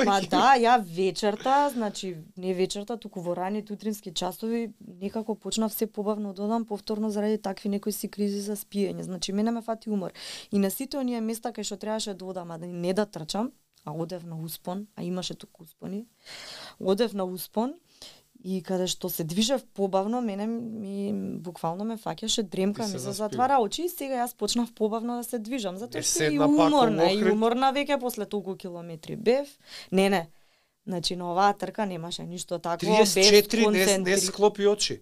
Ма да, ја вечерта, значи не вечерта, туку во раните утрински часови некако почнав се побавно да одам повторно заради такви некои си кризи за спиење. Значи мене ме фати умор. И на сите оние места кај што требаше да одам, а да не да трчам, а одев на успон, а имаше туку успони. Одев на успон и каде што се движев побавно, мене ми буквално ме фаќаше дремка, ми се затвара очи и сега јас почнав побавно да се движам, затоа што и уморна, и уморна веќе после толку километри бев. Не, не. Значи на оваа трка немаше ништо такво, триесет и четири не, не склопи очи.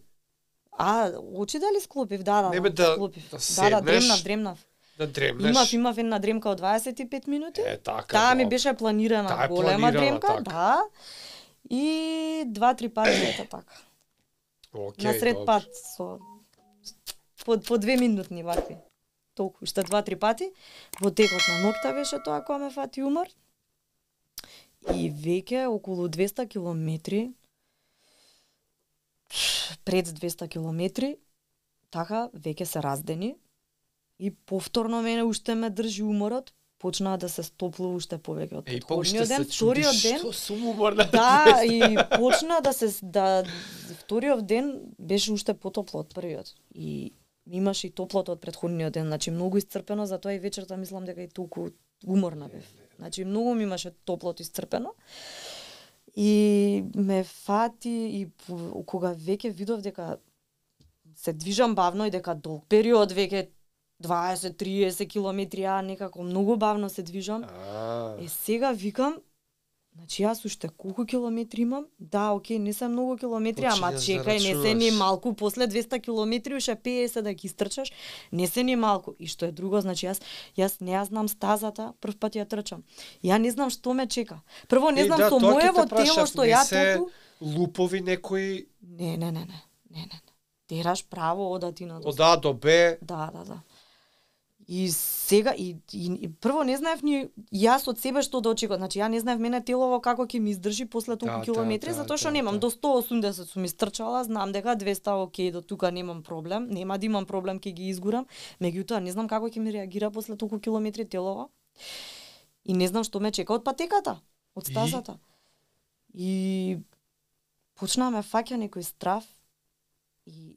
А, очи дали склопив? Да, да, не бе, да, да, склопив. да, да, да, дремнав, дремнав. Да дремнеш. Имав, имав една дремка од дваесет и пет минути. Е, така. Таа ми беше планирана Таа голема дремка, така. да. И два-три пати ете така. Океј, На сред добро. пат со по, по две минутни вакви. Толку, уште два-три пати. Во текот на ноќта беше тоа кога ме фати умор. И веќе околу двесте километри, пред двесте километри, така веќе се раздени. И повторно мене уште ме држи уморот, почнаа да се стоплува уште повеќе од претходниот ден, вториот ден. Што сум уморна? Да, и почна да се да вториот ден беше уште потопло од првиот. И имаше и топлото од претходниот ден, значи многу исцрпено, затоа и вечерта мислам дека и толку уморна бев. Значи многу ми имаше топлото исцрпено. И ме фати и кога веќе видов дека се движам бавно и дека долг период веќе дваесет-триесет километри, а некако многу бавно се движам. А. Е, сега викам, значи јас уште колку километри имам? Да, окей, не се многу километри, ама Почињаш чекај, да не се ни рачунаш. малку, после двесте километри уште педесет да ги истрчаш, не се ни малку. И што е друго, значи јас јас не ја знам стазата, прв пат ја трчам. Ја не знам што ме чека. Прво не Е, знам да, со тоа ќе те моево прашав, тело што не ја се толку лупови некои Не, не, не, не. Не, не, не. Тераш право одати на од А до Б. Да, да, да. И сега и, и, и прво не знаев ни јас од себе што да очекувам. Значи ја не знаев мене телово како ќе ми издржи после толку Да, километри, да, затоа што да, немам да. до сто и осумдесет сум истрчала, знам дека двесте окей, до тука немам проблем, нема да имам проблем ќе ги изгурам, меѓутоа не знам како ќе ми реагира после толку километри телово. И не знам што ме чека од патеката, од стазата. И, и почнаа ме фаќа некој страф и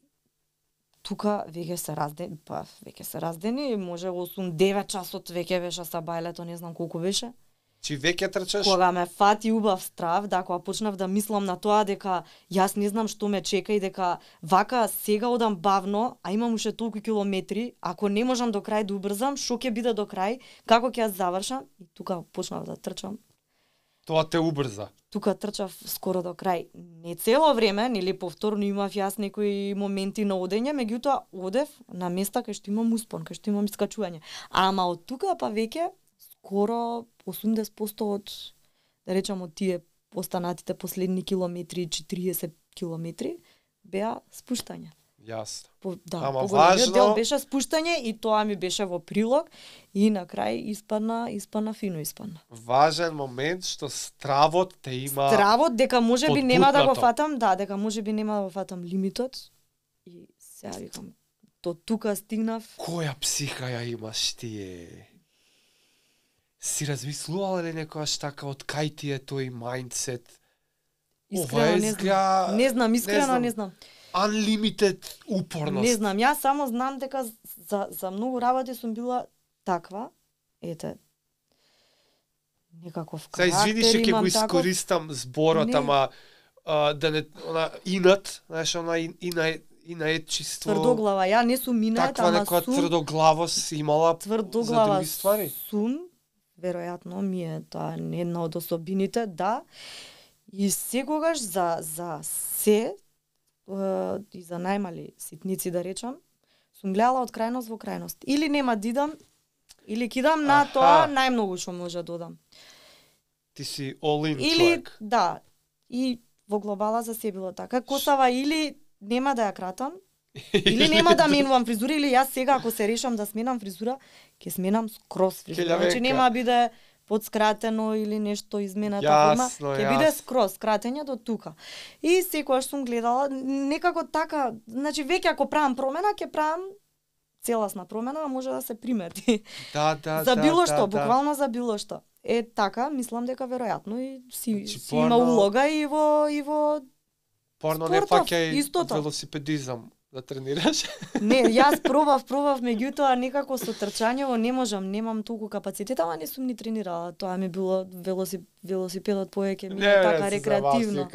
тука веќе се раздени, па веќе се раздени, може осум-девет часот веќе беше са бајлето, не знам колку беше. Чи веќе трчаш? Кога ме фати убав страв, да, кога почнав да мислам на тоа дека јас не знам што ме чека и дека вака сега одам бавно, а имам уште толку километри, ако не можам до крај да убрзам, што ќе биде до крај, како ќе ја завршам, и тука почнав да трчам. Тоа те убрза. Тука трчав скоро до крај. Не цело време, нели повторно имав јас некои моменти на одење, меѓутоа одев на места кај што имам успон, кај што имам искачување. Ама од тука па веќе скоро осумдесет проценти од, да речам, од тие останатите последни километри, четириесет километри, беа спуштање. Јасно. По, да, Ама поголемиот важно- дел беше спуштање и тоа ми беше во прилог и на крај испадна, испадна фино испадна. Важен момент што стравот те има Здравот дека можеби нема да го подгутнато. фатам, да, дека можеби нема да го фатам лимитот и сега викам до тука стигнав. Која психа ја имаш тие? Си размислувала ли некојаш така од кај ти е тој мајндсет? Искрено Ова не знам. изгледа Не знам, искрено знам. не знам. unlimited упорност. Не знам, јас само знам дека за за многу работи сум била таква. Ете. Некаков Се извини што карактер ќе имам го таков. искористам зборот, Не. ама а, да не она инат, знаеш, она ин, ина инаетчиство. Тврдоглава, ја не сум минајт, Таква ама некоја сум тврдоглавост имала за тврдоглава други ствари. сум, веројатно ми е тоа една од особините, да. И секогаш за за се е, и за најмали ситници да речам, сум гледала од крајност во крајност. Или нема да идам, или кидам на Аха. тоа најмногу што може да додам. Ти си all in Или човек. да, и во глобала за се било така. Косава или нема да ја кратам, или нема да менувам фризура, или јас сега ако се решам да сменам фризура, ќе сменам скроз фризура. Келјавенка. Значи нема да биде подскратено или нешто измената Јасно, форма, ќе биде јасно. скроз скратење до тука. И секогаш сум гледала некако така, значи веќе ако правам промена, ќе правам целасна промена, а може да се примети. Да, да, за да, било да, што, да. буквално за било што. Е така, мислам дека веројатно и си, Значи, си има порно- улога и во и во Порно не спортов, фаќај истото. велосипедизам да тренираш. Не, јас пробав, пробав, меѓутоа некако со трчањево не можам, немам толку капацитет, ама не сум ни тренирала. Тоа ми било велоси, велосипедот повеќе ми е така рекреативно.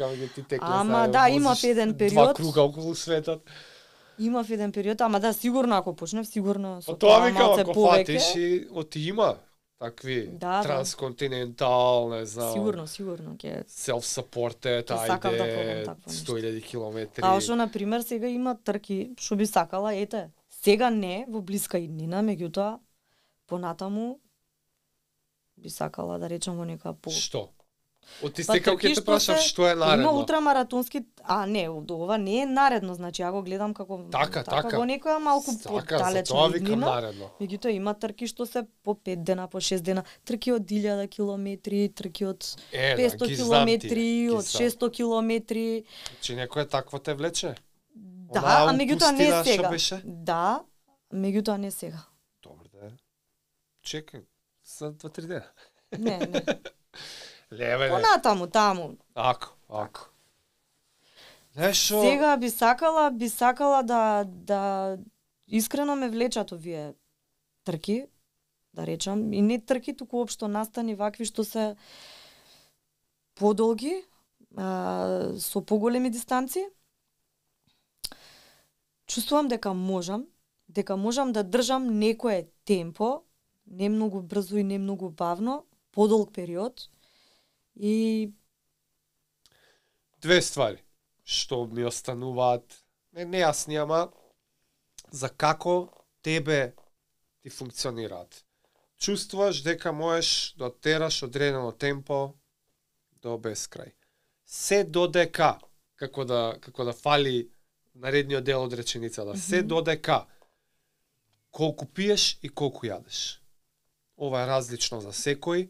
Ама, да, имав еден Два период. круга околу светот. Имав еден период, ама да, сигурно ако почнев, сигурно со Па тоа викам, малце ако повеќе. фатиш и оти има такви Да, да. трансконтинентал, не знам. Сигурно, сигурно ќе. Self-supported, Ќе сакам да ајде, пробам такво нешто. сто илјади километри. Као што на пример сега има трки, што би сакала, ете. Сега не во блиска иднина, меѓутоа понатаму би сакала да речам во нека по. Што? Од ти Па, стекав трки ќе те што прашам се- што е Има наредно. ултрамаратонски, а не, ова не е наредно, значи ја го гледам како Така, така. во некоја малку Така, за подалечна тоа викам иднина. наредно. Меѓутоа има трки што се по пет дена, по шест дена, трки од илјада километри, трки од Е, да, петсто ги знам тие, километри, ги од знам. шесто километри. Че некој такво те влече? Да, Онаа а меѓутоа не пустина што сега. беше? Да, меѓутоа не сега. Добро да е. Чекај, за два-три дена. Не, не. Леве, не. Понатаму, таму. Ако, ако. Знаеш шо? Сега би сакала, би сакала да да искрено ме влечат овие трки, да речам, и не трки, туку општо настани вакви што се подолги, а, со поголеми дистанци. Чувствувам дека можам, дека можам да држам некое темпо, не многу брзо и не многу бавно, подолг период. И Две ствари што ми остануваат не нејасни, ама за како тебе ти функционираат. Чувствуваш дека можеш да тераш одредено темпо до бескрај. Се додека, како да како да фали наредниот дел од реченицата, се Мгм. додека колку пиеш и колку јадеш. Ова е различно за секој,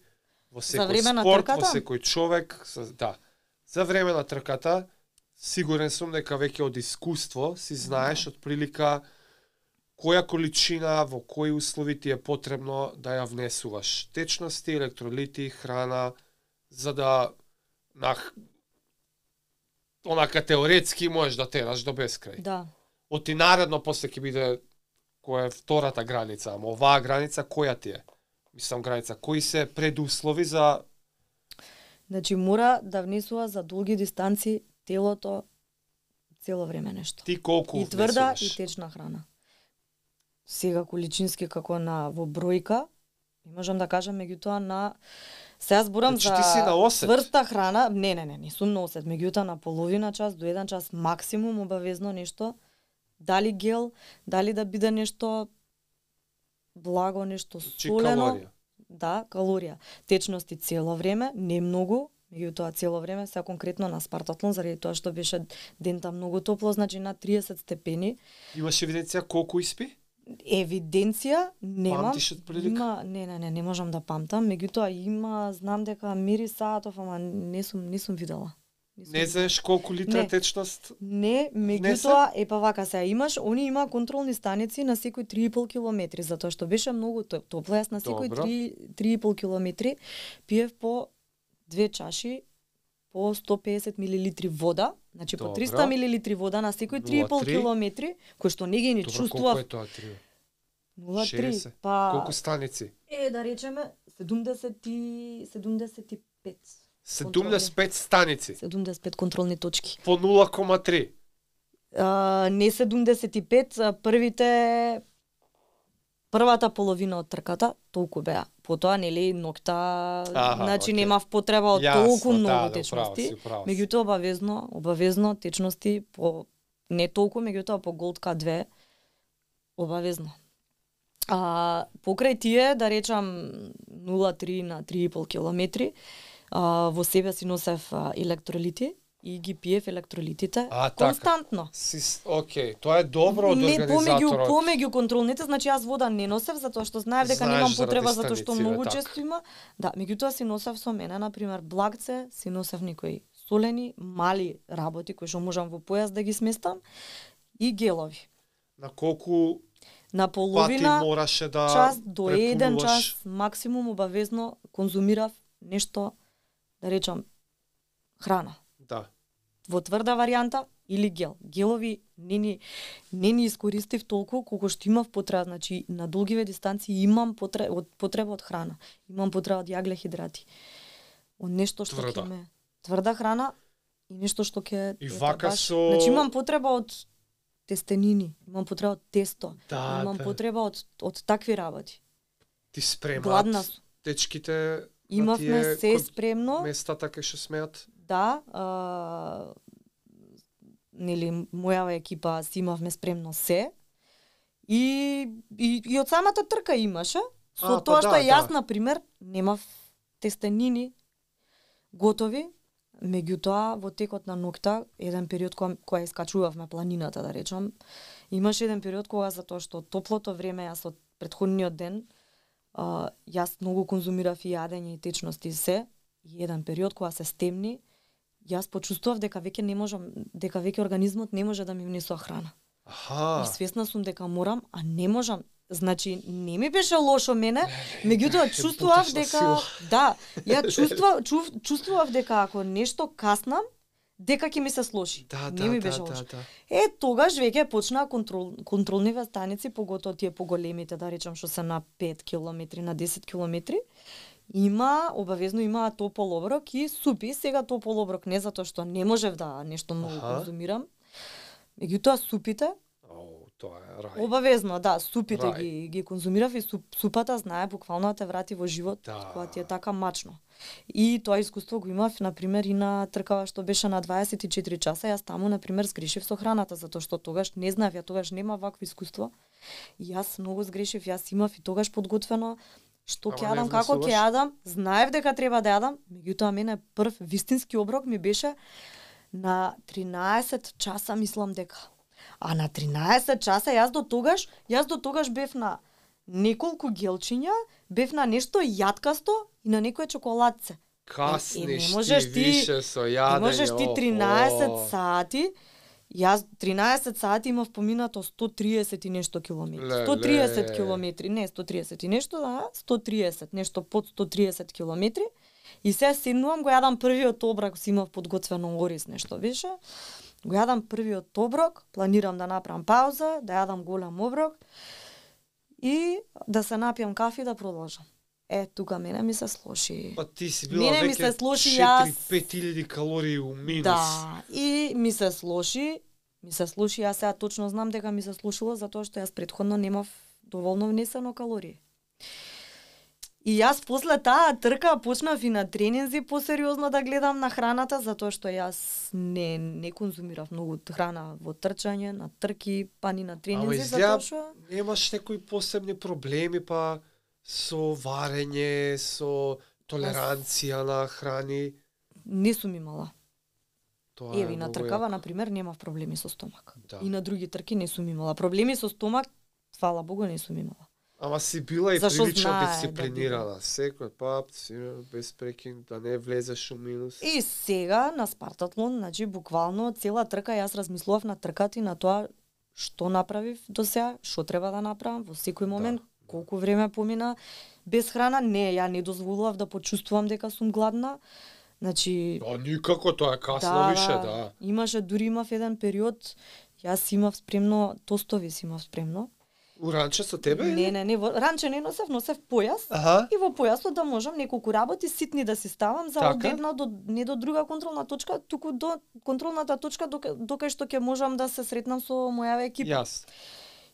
во секој време на спорт, во трката? секој човек, за- да. За време на трката, сигурен сум дека веќе од искуство си знаеш од прилика која количина, во кои услови ти е потребно да ја внесуваш. Течности, електролити, храна, за да на онака теоретски можеш да тераш до бескрај. да, Оти наредно после ќе биде која е втората граница, ама оваа граница која ти е? Мислам граница, кои се предуслови за значи мора да внесува за долги дистанци телото цело време нешто. ти колку И тврда внесуваш? и течна храна. Сега количински како на во бројка, не можам да кажам, меѓутоа на сега зборам Значи за ти си на осет? цврста храна, не, не, не, не сум на осет, меѓутоа на половина час до еден час максимум обавезно нешто, дали гел, дали да биде нешто благо, нешто Чи солено. калорија. Да, калорија. Течности цело време, не многу, Меѓутоа цело време се конкретно на спартатлон заради тоа што беше дента многу топло, значи на триесет степени. Имаш евиденција колку испи? Евиденција немам. Памтиш од прилика? Има, не, не, не, не можам да памтам. Меѓутоа има, знам дека мери саатов, ама не сум не сум видела. Не, сум Не знаеш колку литра Не. течност? Не, меѓутоа е па вака се имаш, они има контролни станици на секој три и пол километри, затоа што беше многу топ- топло, јас на секој Добро. три три и пол километри пиев по две чаши по сто песет милилитри вода, значи по Добро. триста милилитри вода на секој три и пол нула три. километри, кој што не ги ни Добро, колку чувствував. е тоа три? нула три, шеесет. па Колку станици? е да речеме седумдесет и седумдесет и пет. седумдесет и пет станици. седумдесет и пет контролни точки. По нула кома три. А, не седумдесет и пет, а првите првата половина од трката толку беа. Потоа нели ноќта, Аха, значи окей. немав потреба од Јасно, толку да, многу да, управо течности. си, управо си. Меѓутоа обавезно, обавезно течности по не толку, меѓутоа по Голдка две обавезно. А покрај тие, да речам нула три на три и пол километри, а, во себе си носев а, електролити и ги пиев електролитите А, така. константно. Си, окей, тоа е добро од Не, помеѓу, организаторот. помеѓу контролните, значи јас вода не носев затоа што знаев дека Знаеш немам заради потреба затоа што станиците, многу така. често има. Да, меѓутоа си носев со мене на пример благце, си носев некои солени, мали работи кои што можам во појас да ги сместам и гелови. На колку На пати половина мораше да час до еден препунуваш? час максимум обавезно конзумирав нешто, да речам, храна. Да. Во тврда варијанта или гел. Гелови не ни, не ни искористив толку колку што имав потреба, значи на долгиве дистанции имам потреба од потреба од храна. Имам потреба од јаглехидрати. Од нешто што Тврда. ќе ме тврда храна и нешто што ќе И ете, вака баш- со- Значи имам потреба од тестенини, имам потреба од тесто, Да, имам да. потреба од од такви работи. Ти спремат Гладна сум. дечките на Имавме тие се кон- спремно. местата кај што смеат. Да, а, нели мојава екипа си имавме спремно се. И и, и од самата трка имаше. Со А, па тоа да, што јас да. на пример немав тестенини готови, меѓутоа во текот на ноќта, еден период кога кога искачувавме планината, да речам, имаше еден период кога затоа што топлото време јас од претходниот ден а, јас многу конзумирав и јадење и течности и се, и еден период кога се стемни, јас почувствував дека веќе не можам, дека веќе организмот не може да ми внесува храна. Аха. И свесна сум дека морам, а не можам. Значи, не ми беше лошо мене, меѓутоа чувствував бутешна дека сила. да, ја чувствував, чув, чувствував дека ако нешто каснам, дека ќе ми се слоши. Да, не да, ми да, беше да, лошо. да. Е, тогаш веќе почнаа контрол, контролниве станици, поготоа тие поголемите, да речам, што се на пет километри, на десет километри. Има, обавезно има топол оброк и супи. Сега топол оброк не затоа што не можев да нешто многу Аха. конзумирам. Меѓутоа супите, О, тоа е рај. обавезно, да, супите Рај. ги ги конзумирав и суп, супата знае буквално да те врати во живот, Да. кога ти е така мачно. И тоа искуство го имав, на пример, и на тркава што беше на дваесет и четири часа, јас таму, на пример, сгрешив со храната, затоа што тогаш не знаев, ја тогаш нема вакво искуство. И јас многу сгрешив, јас имав и тогаш подготвено што Ама ќе не јадам, како внесуваш? ќе јадам, знаев дека треба да јадам, меѓутоа мене прв вистински оброк ми беше на тринаесет часа, мислам дека. А на тринаесет часа јас до тогаш, јас до тогаш бев на неколку гелчиња, бев на нешто јаткасто и на некое чоколадце. Касниш Е, не ти можеш ти- више со јадење. Не можеш ти охо. тринаесет сати, јас тринаесет сати имав поминато сто триесет и нешто километри. Леле. сто триесет километри, не сто триесет и нешто, да, сто триесет, нешто под сто триесет километри. И се седнувам, го јадам првиот оброк, си имав подготвено ориз нешто беше. Го јадам првиот оброк, планирам да направам пауза, да јадам голем оброк и да се напијам кафе и да продолжам. Е, тука мене ми се слоши. Па ти си била Мене ми веќе се слоши, јас- четири-пет илјади калории у минус. Да, и ми се слоши, ми се слоши, јас сега точно знам дека ми се слушило затоа што јас претходно немав доволно внесено калории. И јас после таа трка почнав и на тренинзи посериозно да гледам на храната, затоа што јас не не конзумирав многу храна во трчање, на трки, па ни на Ама тренинзи, изгледа, затоа што немаш некои посебни проблеми, па со варење, со толеранција на храни. Не сум имала. Тоа Еви, е на многу тркава, јако. например, немав проблеми со стомак. Да. И на други трки не сум имала. Проблеми со стомак, фала Богу, не сум имала. Ама си била и Зашо прилично знае да дисциплинирана. Секој пат си без прекин да не влезеш у минус. И сега на Спартатлон, значи буквално цела трка јас размислував на трката и на тоа што направив до сега, што треба да направам во секој момент, Да. колку време помина без храна. Не, ја не дозволував да почувствувам дека сум гладна. Значи, А никако, тоа е касно да, више, да. да. Имаше, дури имав еден период, јас имав спремно, тостови си имав спремно. У ранче со тебе? Не, не, не, во ранче не носев, носев појас. Аха. И во појасот да можам неколку работи ситни да си ставам за Така? од една до не до друга контролна точка, туку до контролната точка дока, докај што ќе можам да се сретнам со мојава екипа. Јас.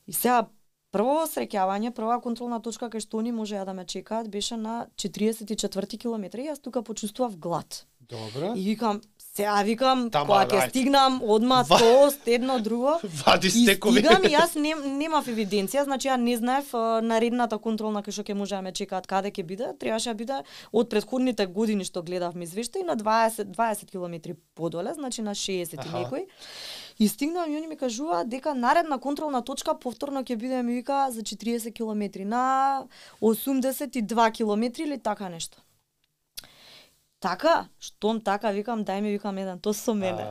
И сега прво среќавање, прва контролна точка кај што они можеа да ме чекаат беше на четиридесет и четврти километри. Јас тука почувствував глад. Добро. И викам, сега викам, Тама, кога ќе ајде. стигнам одма Ва- тост, едно друго. Вади И стекови. стигам и јас нем, немав евиденција, значи ја не знаев а, наредната контролна кај што ќе може да ме чекаат каде ќе биде, требаше да биде од претходните години што гледавме извештаи на дваесет дваесет километри подоле, значи на шеесет и Аха. некој. И стигнам и они ми кажуваат дека наредна контролна точка повторно ќе биде, ми вика, за четиридесет километри на осумдесет и два километри или така нешто. Така, штом така, викам, дај ми, викам, еден тост со мене.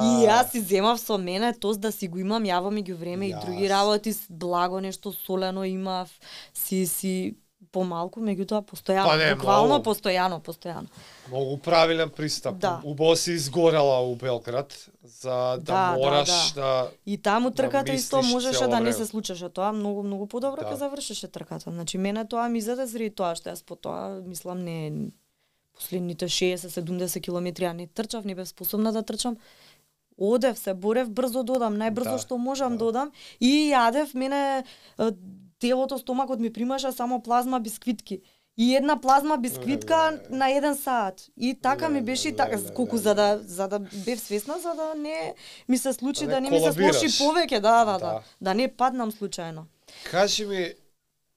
И јас си земав со мене тост да си го имам, јаво ми ги време и други Јас. работи, с- благо нешто солено имав, си си помалку, меѓутоа постојано, Па не, буквално многу. постојано, постојано. Многу правилен пристап. Да. Убаво си изгорела у Белград за да, Да, да, мораш да. да... И таму Да трката исто мислиш можеше цело да не време. се случеше тоа, многу многу подобро Да. ќе завршеше трката. Значи мене тоа ми заде заради тоа што јас по тоа мислам не последните шеесет седумдесет километри ја не трчав, не бев способна да трчам. Одев, се борев брзо додам, најбрзо Да, што можам да. додам и јадев, мене е, телото, стомакот ми примаше само плазма бисквитки. И една плазма бисквитка Леле. на еден саат. И така ми беше и така, Леле, колку леле. за да за да бев свесна, за да не ми се случи Да да не не ми се колабираш. случи повеќе, да, да, да, Да. да не паднам случајно. Кажи ми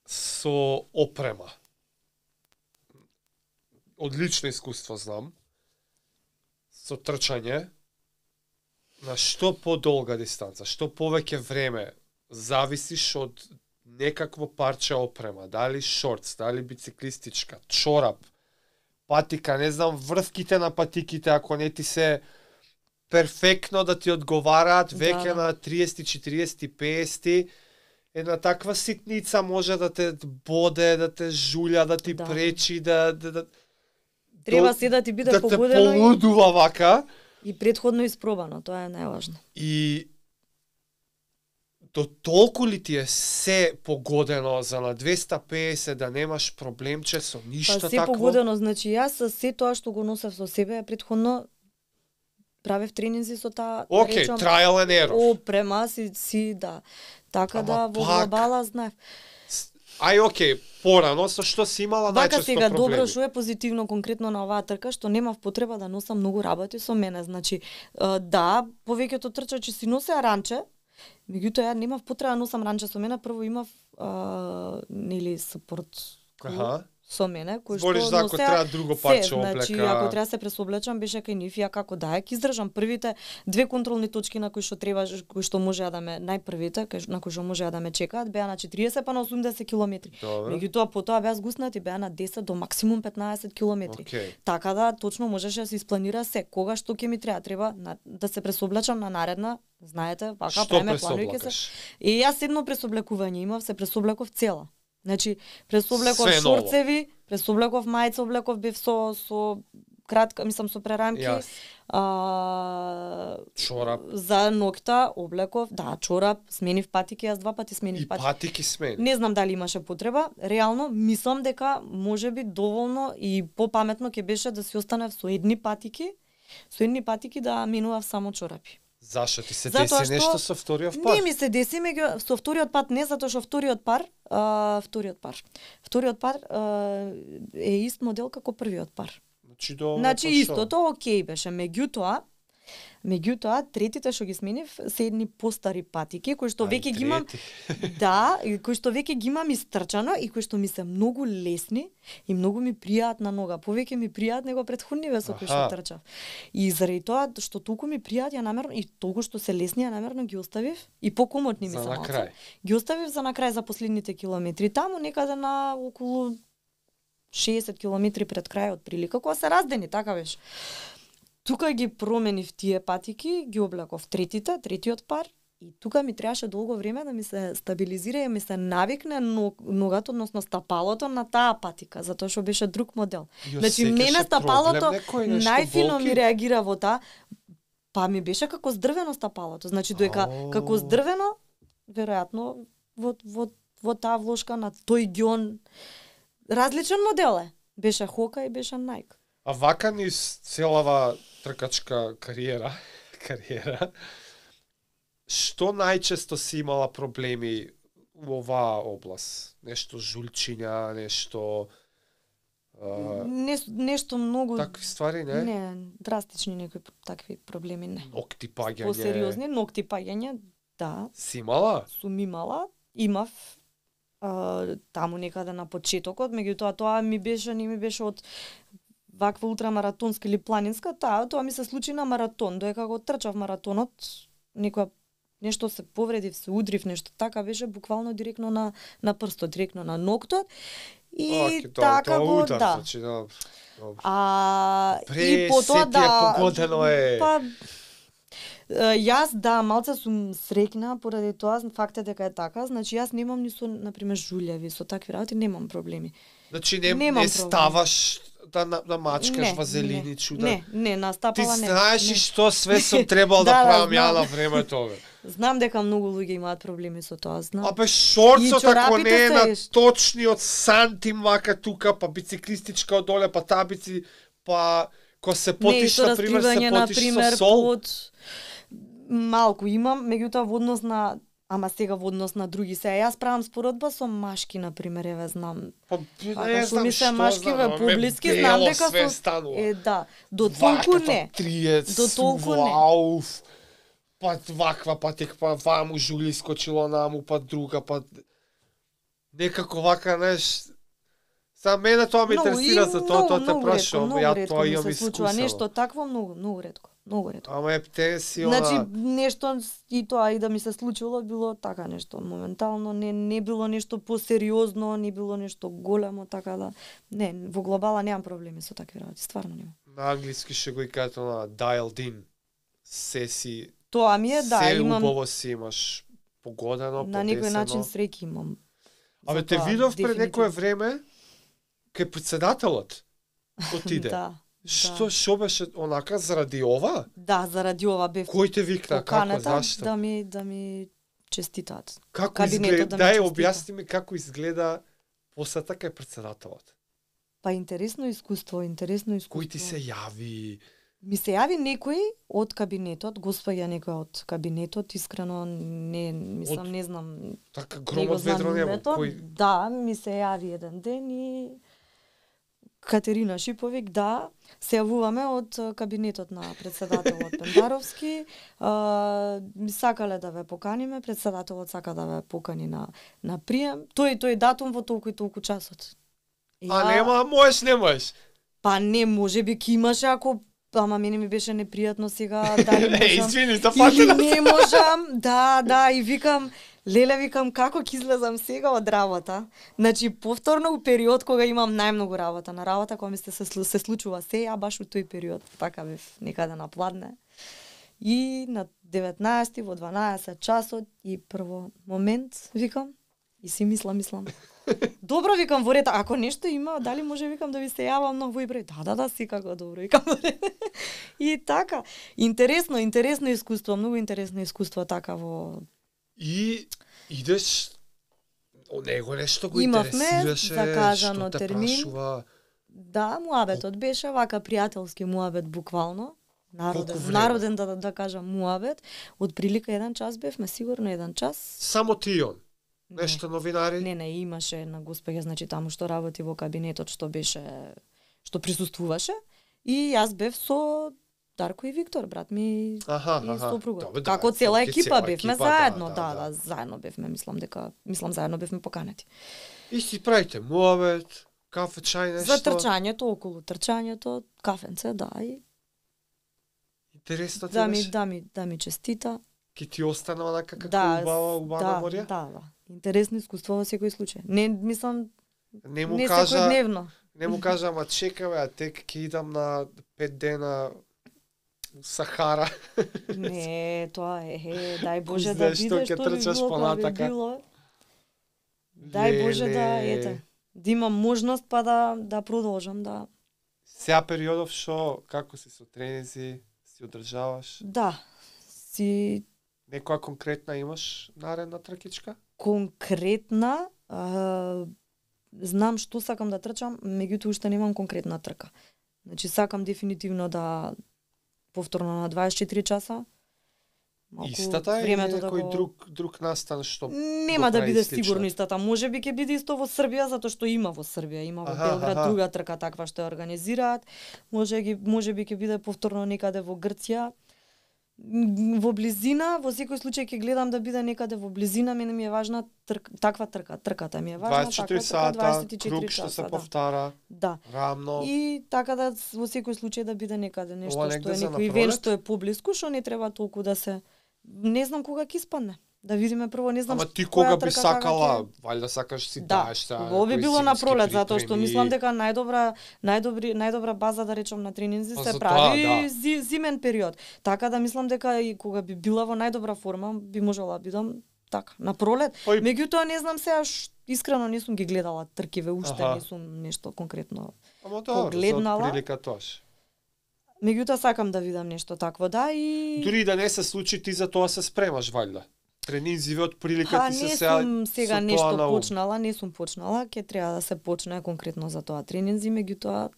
со опрема. Одлично искуство знам. Со трчање. На што подолга дистанца, што повеќе време зависиш од некакво парче опрема, дали шортс, дали бициклистичка, чорап, патика, не знам, врвките на патиките, ако не ти се перфектно да ти одговараат, веќе Да. на триесет, четириесет, петдесет, една таква ситница може да те боде, да те жулја, да ти Да. пречи, да, да, да, Треба до- се да ти биде да те погодено и, полудува вака. и предходно испробано, тоа е најважно. И до толку ли ти е се погодено за на двеста педесет да немаш проблемче со ништо Па се такво? погодено, значи јас со се тоа што го носев со себе предходно правев тренинзи со таа, да Океј, речам, trial and error. опрема си, си да. Така Ама да во пак- глобала знаев. Ај, океј, порано, со што си имала Вака најчесто сега проблеми? добро што е позитивно конкретно на оваа трка што немав потреба да носам многу работи со мене. Значи, е, да, повеќето трчачи си носеа ранче, меѓутоа ја немав потреба да носам ранче со мене. Прво имав а, нели сапорт Аха. со мене, кој Збориш што за ако носеа треба друго се, парче значи, облека. ако треба да се пресоблечам, беше кај нив, ја како да, ќе издржам првите две контролни точки на кои што треба, кои што можеа да ме, најпрвите, кај- на кои што можеа да ме чекаат, беа на четириесет па на осумдесет километри. Добро. Меѓутоа потоа беа згуснати, беа на десет до максимум петнаесет километри. Океј. Така да точно можеше да се испланира се. Кога што ќе ми треба, треба на, да се пресоблечам на наредна, знаете, вака Што правиме планови ќе се. пресоблакаш? И јас едно пресоблекување имав, се пресоблеков цела. Значи, пресоблеков Све ново. шорцеви, пресоблеков мајца, облеков бев со со кратка, мислам со прерамки. Јас. А, Чорап. за ноќта облеков, да, чорап, сменив патики, јас два пати сменив И патики. патики смени. Не знам дали имаше потреба, реално мислам дека можеби доволно и попаметно ќе беше да си останев со едни патики, со едни патики да менував само чорапи. Зашо ти се Затоа деси што нешто со вториот пар? Не ми се деси, меѓу со вториот пат не, затоа што вториот пар, а, вториот пар. Вториот пар а, е ист модел како првиот пар. Значи, до Значи па што? истото окей беше, меѓутоа Меѓутоа, третите што ги сменив се едни постари патики кои што Ај, веќе ги имам трети. да, и кои што веќе ги имам истрчано и кои што ми се многу лесни и многу ми пријаат на нога. Повеќе ми пријаат него претходниве со кои што Аха. трчав. И заради тоа што толку ми пријаат, ја намерно и толку што се лесни, ја намерно ги оставив и покомотни ми За се на малце. крај. Ги оставив за на крај за последните километри. Таму некаде на околу шеесет километри пред крајот прилика, кога се раздени, така беше. Тука ги променив тие патики, ги облеков третите, третиот пар, и тука ми требаше долго време да ми се стабилизира и ми се навикне ногата, односно стапалото на таа патика, затоа што беше друг модел. Ја Значи, секаше мене стапалото проблем некој, нешто најфино болки? ми реагира во таа, па ми беше како здрвено стапалото. Значи, доека Ау. како здрвено, веројатно во, во, во таа влошка на тој ѓон, различен модел е. Беше Хока и беше Nike. А вака низ целава тркачка кариера, кариера, што најчесто си имала проблеми во оваа област? Нешто жулчиња, нешто а, Не, нешто многу такви ствари, не? не, драстични некои такви проблеми не. Нокти паѓање. Посериозни ногти паѓање, да, Си имала? сум имала, имав а, таму некаде на почетокот, меѓутоа тоа ми беше, не ми беше од ваква ултрамаратонска или планинска, таа тоа ми се случи на маратон, доека го трчав маратонот, некоја нешто се повредив, се удрив, нешто така беше буквално директно на на прстот, директно на ноктот. И Оке, тоа- така тоа го, удар, да. значи, да. Добро. А Пре, и потоа се ти е да погодено е. Па е, јас да малце сум среќна поради тоа фактот дека е така, значи јас немам ни со на пример жулјави, со такви работи немам проблеми. Значи не, Немам не проблем. ставаш да на, да мачкаш Не, вазелини, не, чуда. Не, не, на Ти стапала не. знаеш и не. што све сум требал да, Да, да, правам ја знам. на времето, бе. Знам дека многу луѓе имаат проблеми со тоа, знам. Абе шорцот И ако чорапите не е на се- точниот сантим вака тука, па бициклистичка одоле, па табици, па ко се потиш, не, на пример, се раскривање, потиш например, со сол. под малку имам, меѓутоа во однос на ама сега во однос на други се. Јас правам споредба со машки, на пример, еве знам. Па, Така не што знам ми се што машки знам, ве ама ме поблиски, бело знам дека све со станува. е да, до толку Вака, не. Па триец, До толку не. вау, па ваква, па тек, па ваму жули скочило наму, па друга, па... Некако вака, знаеш... За мене тоа ме Многу, интересира, и за тоа тоа те многу ретко, прашувам, многу ја ретко тоа ми имам се случува искусено. нешто такво, многу, многу ретко, многу ретко. Ама ептен си она... Значи нешто и тоа и да ми се случило било така нешто моментално, не не било нешто посериозно, не било нешто големо, така да не, во глобала немам проблеми со такви работи, стварно немам. На англиски ще го и кажат на dialed in. Се си... Тоа ми е да, се имам убаво си имаш погодено, на некој подесено. начин среќа имам. Абе, за те тоа, видов пред дефинитивно. некое време кај председателот отиде. Да. Што да. што беше онака заради ова? Да, заради ова бев Кој те викна, како, поканата зашто? да ми да ми честитаат. Како кабинетот изгледа? да ми Дај честита. објасни ми како изгледа посета кај председателот. Па интересно искуство, интересно искуство. Кој ти се јави? Ми се јави некој од кабинетот, господја некој од кабинетот, искрено не мислам, Од- не знам. Така не го громот знам ведро нема. името. Кој... Да, ми се јави еден ден и Катерина Шиповик, да, се јавуваме од а, кабинетот на председателот Пендаровски. А, ми сакале да ве поканиме, председателот сака да ве покани на на прием. Тој тој датум во толку и толку часот. А нема, можеш, не можеш. Па не, може би ки имаше ако ама мене ми беше непријатно сега дали Не, можам. извини, да Или фатила. не можам, да, да, и викам, леле, викам, како ќе излезам сега од работа? Значи, повторно у период кога имам најмногу работа, на работа кога ми се, се, се случува се, ја баш у тој период, така бев некаде на Пладне. И на деветнаесети во дванаесет часот и прво момент, викам, и си мислам, мислам, добро, викам, во ред, ако нешто има, дали може, викам, да ви се јавам на овој број? Да, да, да, секако добро, викам, во ред. И така, интересно, интересно искуство, многу интересно искуство така во... И идеш о него нешто го Имавме интересираше, закажано што те термин. прашува. Да, муабетот беше вака пријателски муабет буквално. Народен, Колку време? народен да, да кажам муабет. Од прилика еден час бевме, сигурно еден час. Само ти и он. Не. Нешто новинари? Не, не, имаше една госпоѓа, значи таму што работи во кабинетот, што беше, што присуствуваше. И јас бев со Дарко и Виктор, брат ми Аха, и аха. сопругот. Добре, да, Како цела ке екипа цела бевме екипа, заедно, да, да, да, да, заедно бевме, мислам дека мислам заедно бевме поканети. И си правите муабет, кафе, чај, нешто. За трчањето, околу трчањето, кафенце, да, и интересно ти да ми, беше? да ми, да ми честита. Ки ти остана онака како Да, убава, убава да, морја? да, да. Интересно искуство во секој случај. Не, мислам, Не му не кажа, секојдневно. не му кажа, ама чекаве, а тек ќе идам на пет дена у Сахара. Не, тоа е, е, дај Боже Кој да знае што биде, ќе што би трчаш било, кога би понатака. било. Дај Боже да, Леле. ете, да имам можност па да да продолжам да. Сеа периодов шо, како си со тренинзи, си одржаваш? Да, си Некоја конкретна имаш наредна тркичка? конкретна, а, знам што сакам да трчам, меѓутоа уште немам конкретна трка. Значи сакам дефинитивно да повторно на дваесет и четири часа. Малку Истата или времето некој го- друг друг настан што Нема го да прави биде слично? сигурно истата. Може би ќе биде исто во Србија затоа што има во Србија, има во Аха, Белград аха. друга трка таква што ја организираат. Може ги може би ќе биде повторно некаде во Грција. М, Во близина, во секој случај ќе гледам да биде некаде во близина, мене ми е важна трк, таква трка, трката ми е важна, дваесет и четири таква сата, трка, дваесет и четири круг што часа, се да. повтара, Да. рамно. И така да во секој случај да биде некаде нешто Ова што негде е за некој напролет? ивент што е поблиску, што не треба толку да се не знам кога ќе испадне. Да видиме прво, не знам Ама ш- ти која кога би трка како сакала, ќе- валјда сакаш си Да, даеш сега во би некои било на зимски пролет затоа што припреми. мислам дека најдобра најдобри најдобра база да речам на тренинзи Па се за прави тоа, да. зи, зимен период. Така да мислам дека и кога би била во најдобра форма би можела да бидам така на пролет. Па и- Меѓутоа не знам сега ш- искрено не сум ги гледала тркиве уште, Аха. не сум нешто конкретно. Ама добро, погледнала. за прилика тоаш. Меѓутоа сакам да видам нешто такво, да, и Дури и да не се случи, ти за тоа се спремаш валјда. Тренинзиве од прилика Па ти се не сега сум сега со нешто тоа на ум. почнала, не сум почнала, ќе треба да се почне конкретно за тоа тренинзи, меѓутоа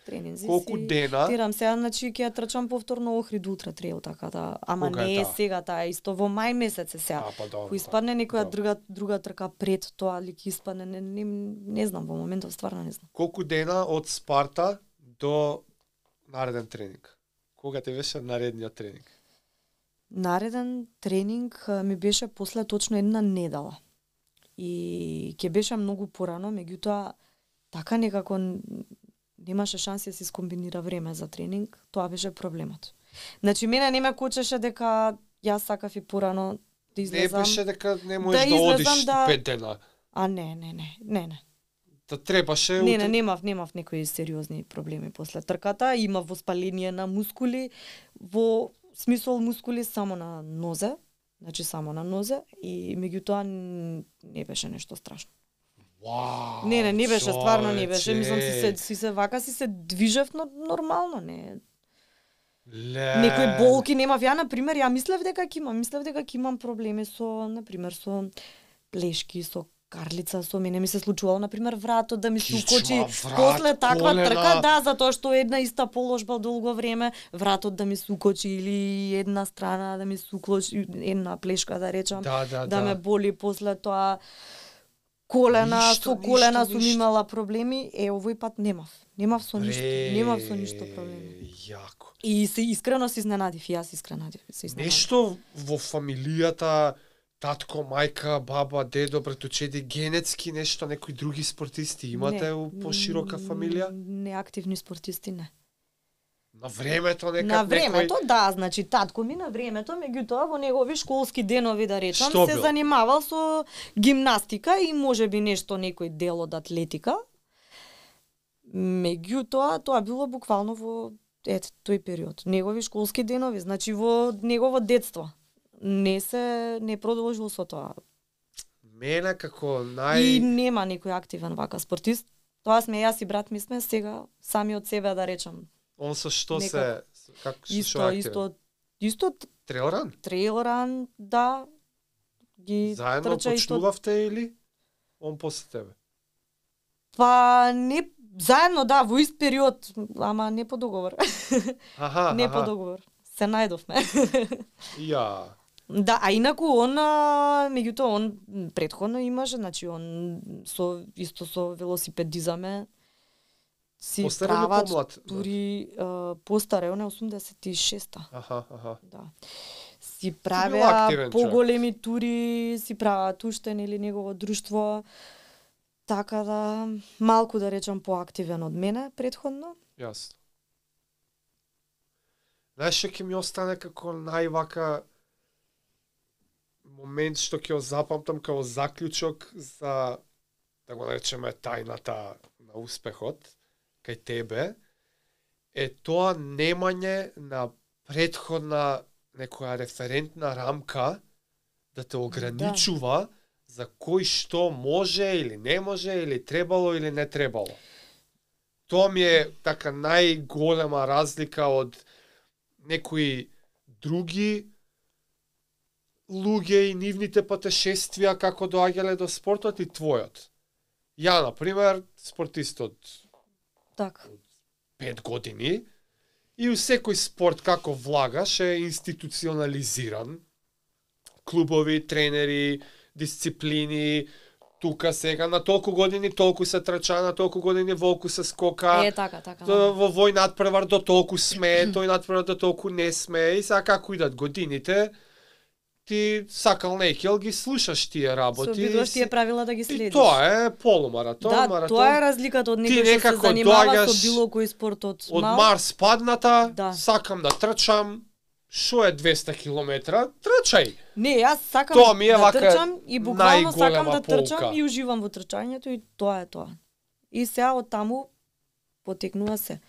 тренинзи Колку си дена? терам сега, значи ќе ја трчам повторно Охрид Ултра Трейл, така да, ама Кога е не е таа? сега таа, исто во мај месец е сега. А, па добро. Ако испадне некоја Добро. друга друга трка пред тоа, или ќе испадне, не, не, не знам, во моментов стварно не знам. Колку дена од Спарта до нареден тренинг? Кога ти беше наредниот тренинг? Нареден тренинг а, ми беше после точно една недела. И ќе беше многу порано, меѓутоа така некако н- немаше шанси да се скомбинира време за тренинг, тоа беше проблемот. Значи мене не ме кочеше дека јас сакав и порано да Не излезам. беше дека не можеш да, да излезам одиш да- пет дена. А не, не, не, не, не. Да требаше Не, утре- не, немав, немав некои сериозни проблеми после трката, имав воспаление на мускули, во смисол мускули само на нозе, значи само на нозе и меѓутоа н- не беше нешто страшно. Вау, Не, не, не беше, стварно не беше. човече. Мислам си се си се вака си се движев но, нормално, не. Ле. Некои болки немав. Ја на пример, ја мислев дека ќе имам, мислев дека ќе имам проблеми со, на пример, со плешки, со карлица, со мене ми се случувало на пример вратот да ми се Кичма, укочи врат, после таква колена. трка, да, затоа што една иста положба долго време, вратот да ми се укочи или една страна да ми се укочи, една плешка да речам, Да, да, да, да. ме боли после тоа колена, Ништо, со колена ништо, сум ништо. имала проблеми, е овој пат немав. Немав со ништо, Бре, немав со ништо проблеми. Јако. И се искрено се изненадив, и јас искрено се изненадив. Нешто во фамилијата, татко, мајка, баба, дедо, братучеди, генетски нешто, некои други спортисти имате Не, у поширока м, фамилија? Неактивни спортисти не. На времето некад На времето, некој... да, значи татко ми на времето, меѓутоа во негови школски денови да речам, Што се бил? занимавал со гимнастика и можеби нешто некој дел од атлетика. Меѓутоа, тоа било буквално во ет тој период. Негови школски денови, значи во негово детство. Не се не продолжил со тоа. Мене како нај... И нема некој активен вака спортист. Тоа сме јас и брат ми сме сега сами од себе да речам. Он со што се... Некако. Како со Исто, што е исто, исто Трейлран? трейл ран, да, ги Заедно трча исто. почнувавте или он после тебе? Па не заедно, да, во ист период, ама не по договор. Аха, не аха. по договор. Се најдовме. Ја. Да, а инаку он, а, меѓутоа он претходно имаше, значи он со исто со велосипедизаме си Постар или прават помлад? тури uh, постаре, он е осумдесет и шеста. Аха, аха. Да. Си бил правеа активен поголеми тури, си прават уште или негово друштво. Така да малку да речам поактивен од мене претходно. Јасно. Знаеш што ќе ми остане како највака момент што ќе го запамтам како заклучок за, да го наречеме, тајната на успехот кај тебе, е тоа немање на претходна некоја референтна рамка да те ограничува да. за кој што може или не може, или требало или не требало. Тоа ми е така најголема разлика од некои други луѓе и нивните патешествија како доаѓале до спортот и твојот. Ја, например, спортист од така. пет години и у секој спорт како влагаш е институционализиран. Клубови, тренери, дисциплини, тука сега на толку години толку се трча, на толку години волку се скока. Е, така, така. То, во вој надпревар до толку сме, тој надпревар до толку не сме и сега како идат годините, ти сакал некел ги слушаш тие работи. Се обидуваш тие правила да ги следиш. И тоа е полумаратон, да, маратон. тоа е разликата од некој што се занимава со било кој спорт од од мал. Марс падната, да. сакам да трчам. Шо е двеста километра? Трчај. Не, јас сакам Тоа ми е да вака трчам и буквално сакам да полка. трчам и уживам во трчањето и тоа е тоа. И сега од таму потекнува се.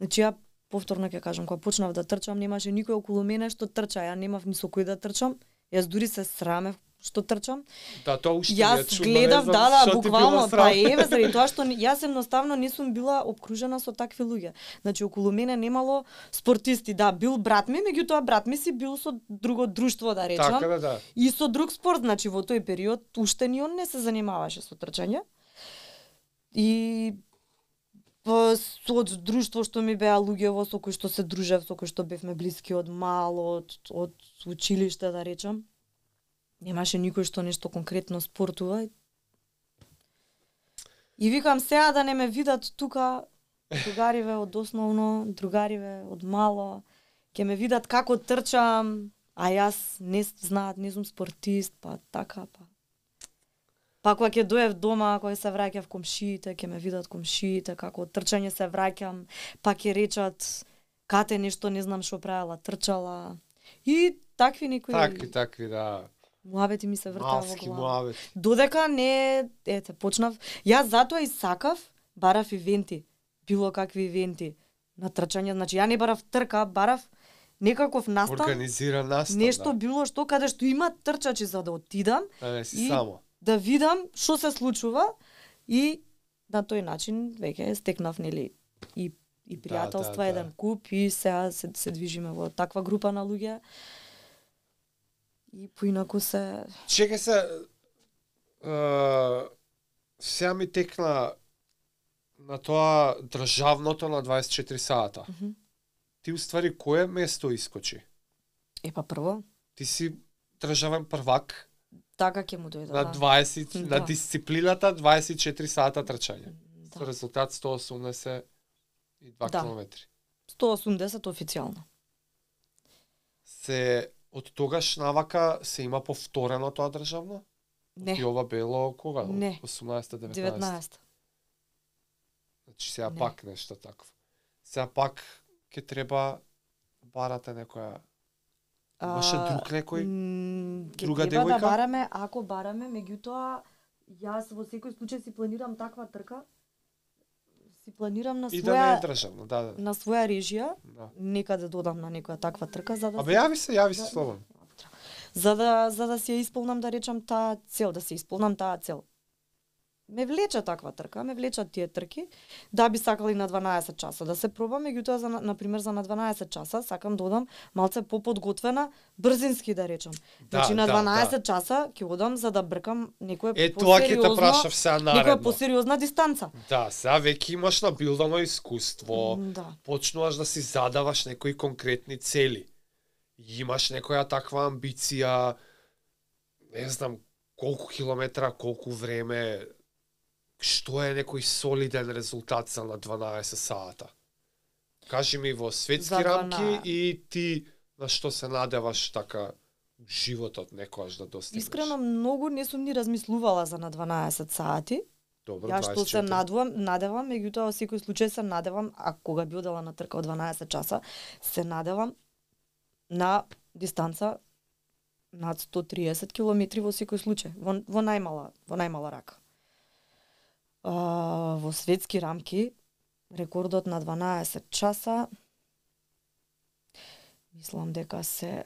Значи ја повторно ќе кажам, кога почнав да трчам, немаше никој околу мене што трча, ја немав ни со кој да трчам. Јас дури се срамев што трчам. Да, тоа уште јас чудно, гледав, не знам, да, да, шо ти буквално, било срам. па еве, заради тоа што јас едноставно не сум била обкружена со такви луѓе. Значи околу мене немало спортисти, да, бил брат ми, меѓутоа брат ми си бил со друго друштво, да речам. Така да, да. И со друг спорт, значи во тој период уште ни он не се занимаваше со трчање. И па, од друштво што ми беа луѓе во со кои што се дружев, со кои што бевме блиски од мало, од, од училиште, да речам. Немаше никој што нешто конкретно спортува. И викам сега да не ме видат тука другариве од основно, другариве од мало, ќе ме видат како трчам, а јас не знаат, не сум спортист, па така, па. Па кога ќе доев дома, кога се враќав комшиите, ќе ме видат комшиите, како од трчање се враќам, па ќе речат кате нешто не знам што правела, трчала. И такви некои... Такви, такви, да. Муабети ми се вртаа во Малски глава. муабет. Додека не, ете, почнав, јас затоа и сакав, барав ивенти, било какви ивенти на трчање, значи ја не барав трка, барав некаков настан, Организиран настан, нешто да. било што каде што има трчачи за да отидам, Да не си и само. да видам што се случува и на тој начин веќе стекнав нели и и пријателства, да, да. еден куп и сега се, се движиме во таква група на луѓе. И поинаку се... Чекај се, е, сега ми текна на тоа државното на дваесет и четири сата. Mm -hmm. Ти уствари кое место искочи? Е, па прво, Ти си државен првак така ќе му дојде, на да. дваесет, Да. на дисциплината дваесет и четири сата трчање. Да. Со резултат сто осумдесет и два Да. километри. сто осумдесет официјално. Се од тогаш навака се има повторено тоа државно? Не, И ова било кога? Не. осумнаесета деветнаесета деветнаесета. Значи сега Не. пак нешто такво. Сега пак ќе треба барате некоја. Имаше А, друг некој? м, ќе друга треба девојка? да бараме, ако бараме, меѓутоа јас во секој случај си планирам таква трка. Си планирам на И да не е своја државно, да, да. на своја режија, да. некаде додам на некоја таква трка за да Абе јави се, јави се Да. слободно. за да за да си ја исполнам, да речам, таа цел, да се исполнам таа цел. Ме влече таква трка, ме влечат тие трки. Да би сакали на дванаесет часа да се пробам, меѓутоа за на пример за на дванаесет часа сакам да одам малце поподготвена, брзински да речам. Да, Значи на да, дванаесет часа ќе одам за да бркам некоја Е тоа ќе те посериозно, прашав сега некоја наредно. посериозна дистанца. Да, сега веќе имаш набилдано искуство. М, Да. Почнуваш да си задаваш некои конкретни цели. Имаш некоја таква амбиција, не знам колку километра, колку време, што е некој солиден резултат за на дванаесет сата? Кажи ми во светски За рамки дванаесет. и ти на што се надеваш така животот некојаш да достигнеш. Искрено многу не сум ни размислувала за на дванаесет сати. Добро, Ја што се дваесет и четири. надевам, надевам, меѓутоа во секој случај се надевам, а кога би одела на трка од дванаесет часа, се надевам на дистанца над сто триесет километри во секој случај, во, во најмала, во најмала рака. А, во светски рамки рекордот на дванаесет часа мислам дека се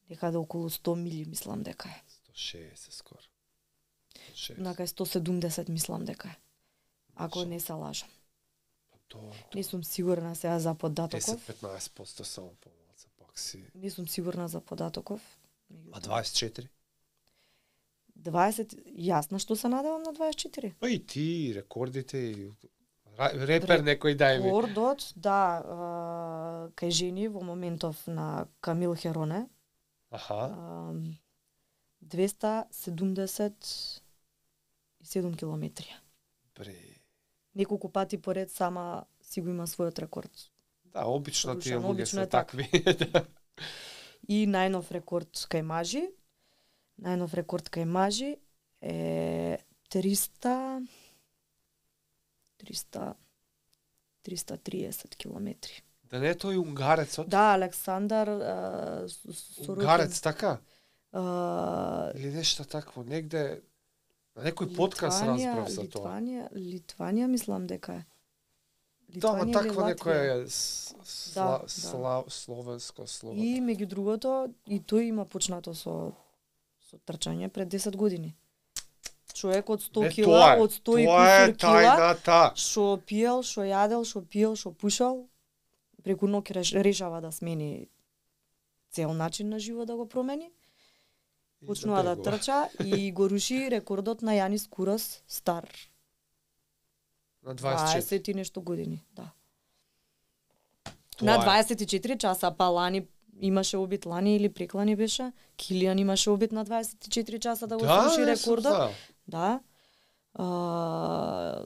некаде околу сто мили, мислам дека е. сто шеесет скоро. шеесет. Накај сто седумдесет мислам дека е. Ако Може. не се лажам. Па добро. Не сум сигурна сега за податоков. десет до петнаесет проценти само помалку, пак си. Не сум сигурна за податоков. А дваесет и четири? дваесет, јасно што се надевам на дваесет и четири. Па и ти, рекордите и Ра- репер некој дај ми. Рекордот, да, а, кај жени во моментов на Камил Хероне, Аха. а, двеста седумдесет и седум километри. Бре. Неколку пати поред сама си го има својот рекорд. Да, обично тие Слушано, луѓе обично се е така. такви. Да. И најнов рекорд кај мажи, најнов рекорд кај мажи е триста триста триста триесет километри. Да не е тој унгарецот? Да, Александар а, С- Сорокин. Унгарец, така? А, Или нешто такво, негде на некој подкаст Литванија, разбрав за тоа. Литванија, Литванија мислам дека е. Да, ма Литванија или такво Латвија. некој е с- сла, Да, да. сла, словенско слово. И меѓу другото, и тој има почнато со со трчање пред десет години. Човек од сто Не, кила, тоа е, од сто и тоа е кусур кила, тајната. што пиел, што јадел, што пиел, што пушал, преку ноќ реш- решава да смени цел начин на живот да го промени. И Почнува да бегува. трча и го руши рекордот на Јанис Курас, стар На дваесет и четири. дваесет и нешто години, да. Тоа На е. дваесет и четири часа, па лани имаше обид, лани или преклани беше, Килијан имаше обид на дваесет и четири часа да го Да, сруши не сум рекордот. знаел. Да. А,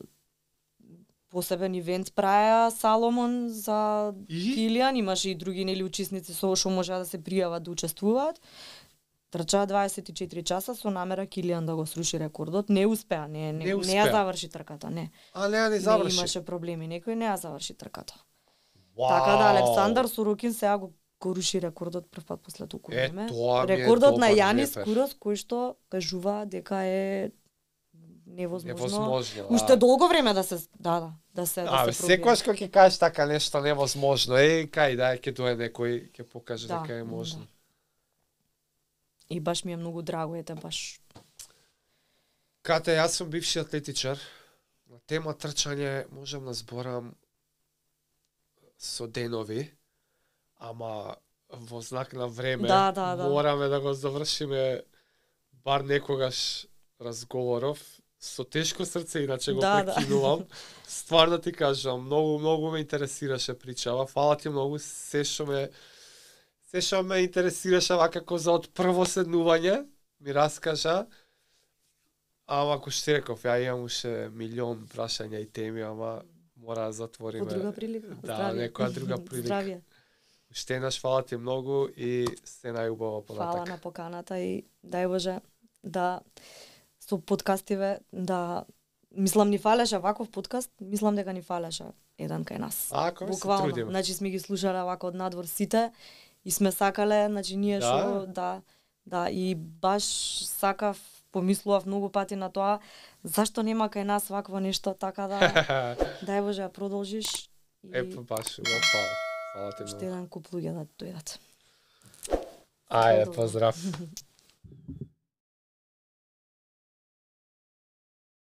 посебен ивент праја Саломон за И? Килијан, имаше и други нели учесници со што можеа да се пријават да учествуваат. Трчаа дваесет и четири часа со намера Килијан да го сруши рекордот. Не успеа, не, не, Не не, успеа. ја заврши трката, не. А не, не Не заврши. имаше проблеми, некој не ја заврши трката. Вау. Така да Александар Сорокин сега го, го руши рекордот прв пат после толку Е, време. тоа ми е Рекордот на добар Јанис репер. Курас кој што кажува дека е невозможно. Невозможно. Уште долго време да се да да да се да А, се пробие. секогаш кога ќе кажеш така нешто невозможно, е, кај да ќе дое некој ќе покаже Да, дека е можно. да. И баш ми е многу драго, ете баш. Кате, јас сум бивши атлетичар. На тема трчање можам да зборам со денови, ама во знак на време Да, да, да. мораме да го завршиме бар некогаш разговоров со тешко срце, иначе го Да, да. прекинувам. Стварно ти кажам, многу, многу ме интересираше причава. Фала ти многу, се што ме се што ме интересираше вакако за од прво седнување, ми раскажа. Ама ако што реков, ја имам уште милион прашања и теми, ама мора да затвориме. По друга прилика. Да, Здравје. некоја друга прилика. Здравје. Уште еднаш фала ти многу и се најубава Фала понатак. на поканата и дај Боже да со подкастиве да мислам ни фалеше ваков подкаст, мислам дека ни фалеше еден кај нас. Ако се Буквално, трудиме. значи сме ги слушале вака од надвор сите и сме сакале, значи ние Да? што да, да и баш сакав, помислував многу пати на тоа, зашто нема кај нас вакво нешто, така да дај Боже ја продолжиш и Епа баш, го фала. Фала ти уште многу. еден куп луѓе да дојдат. Ајде, Добро. поздрав.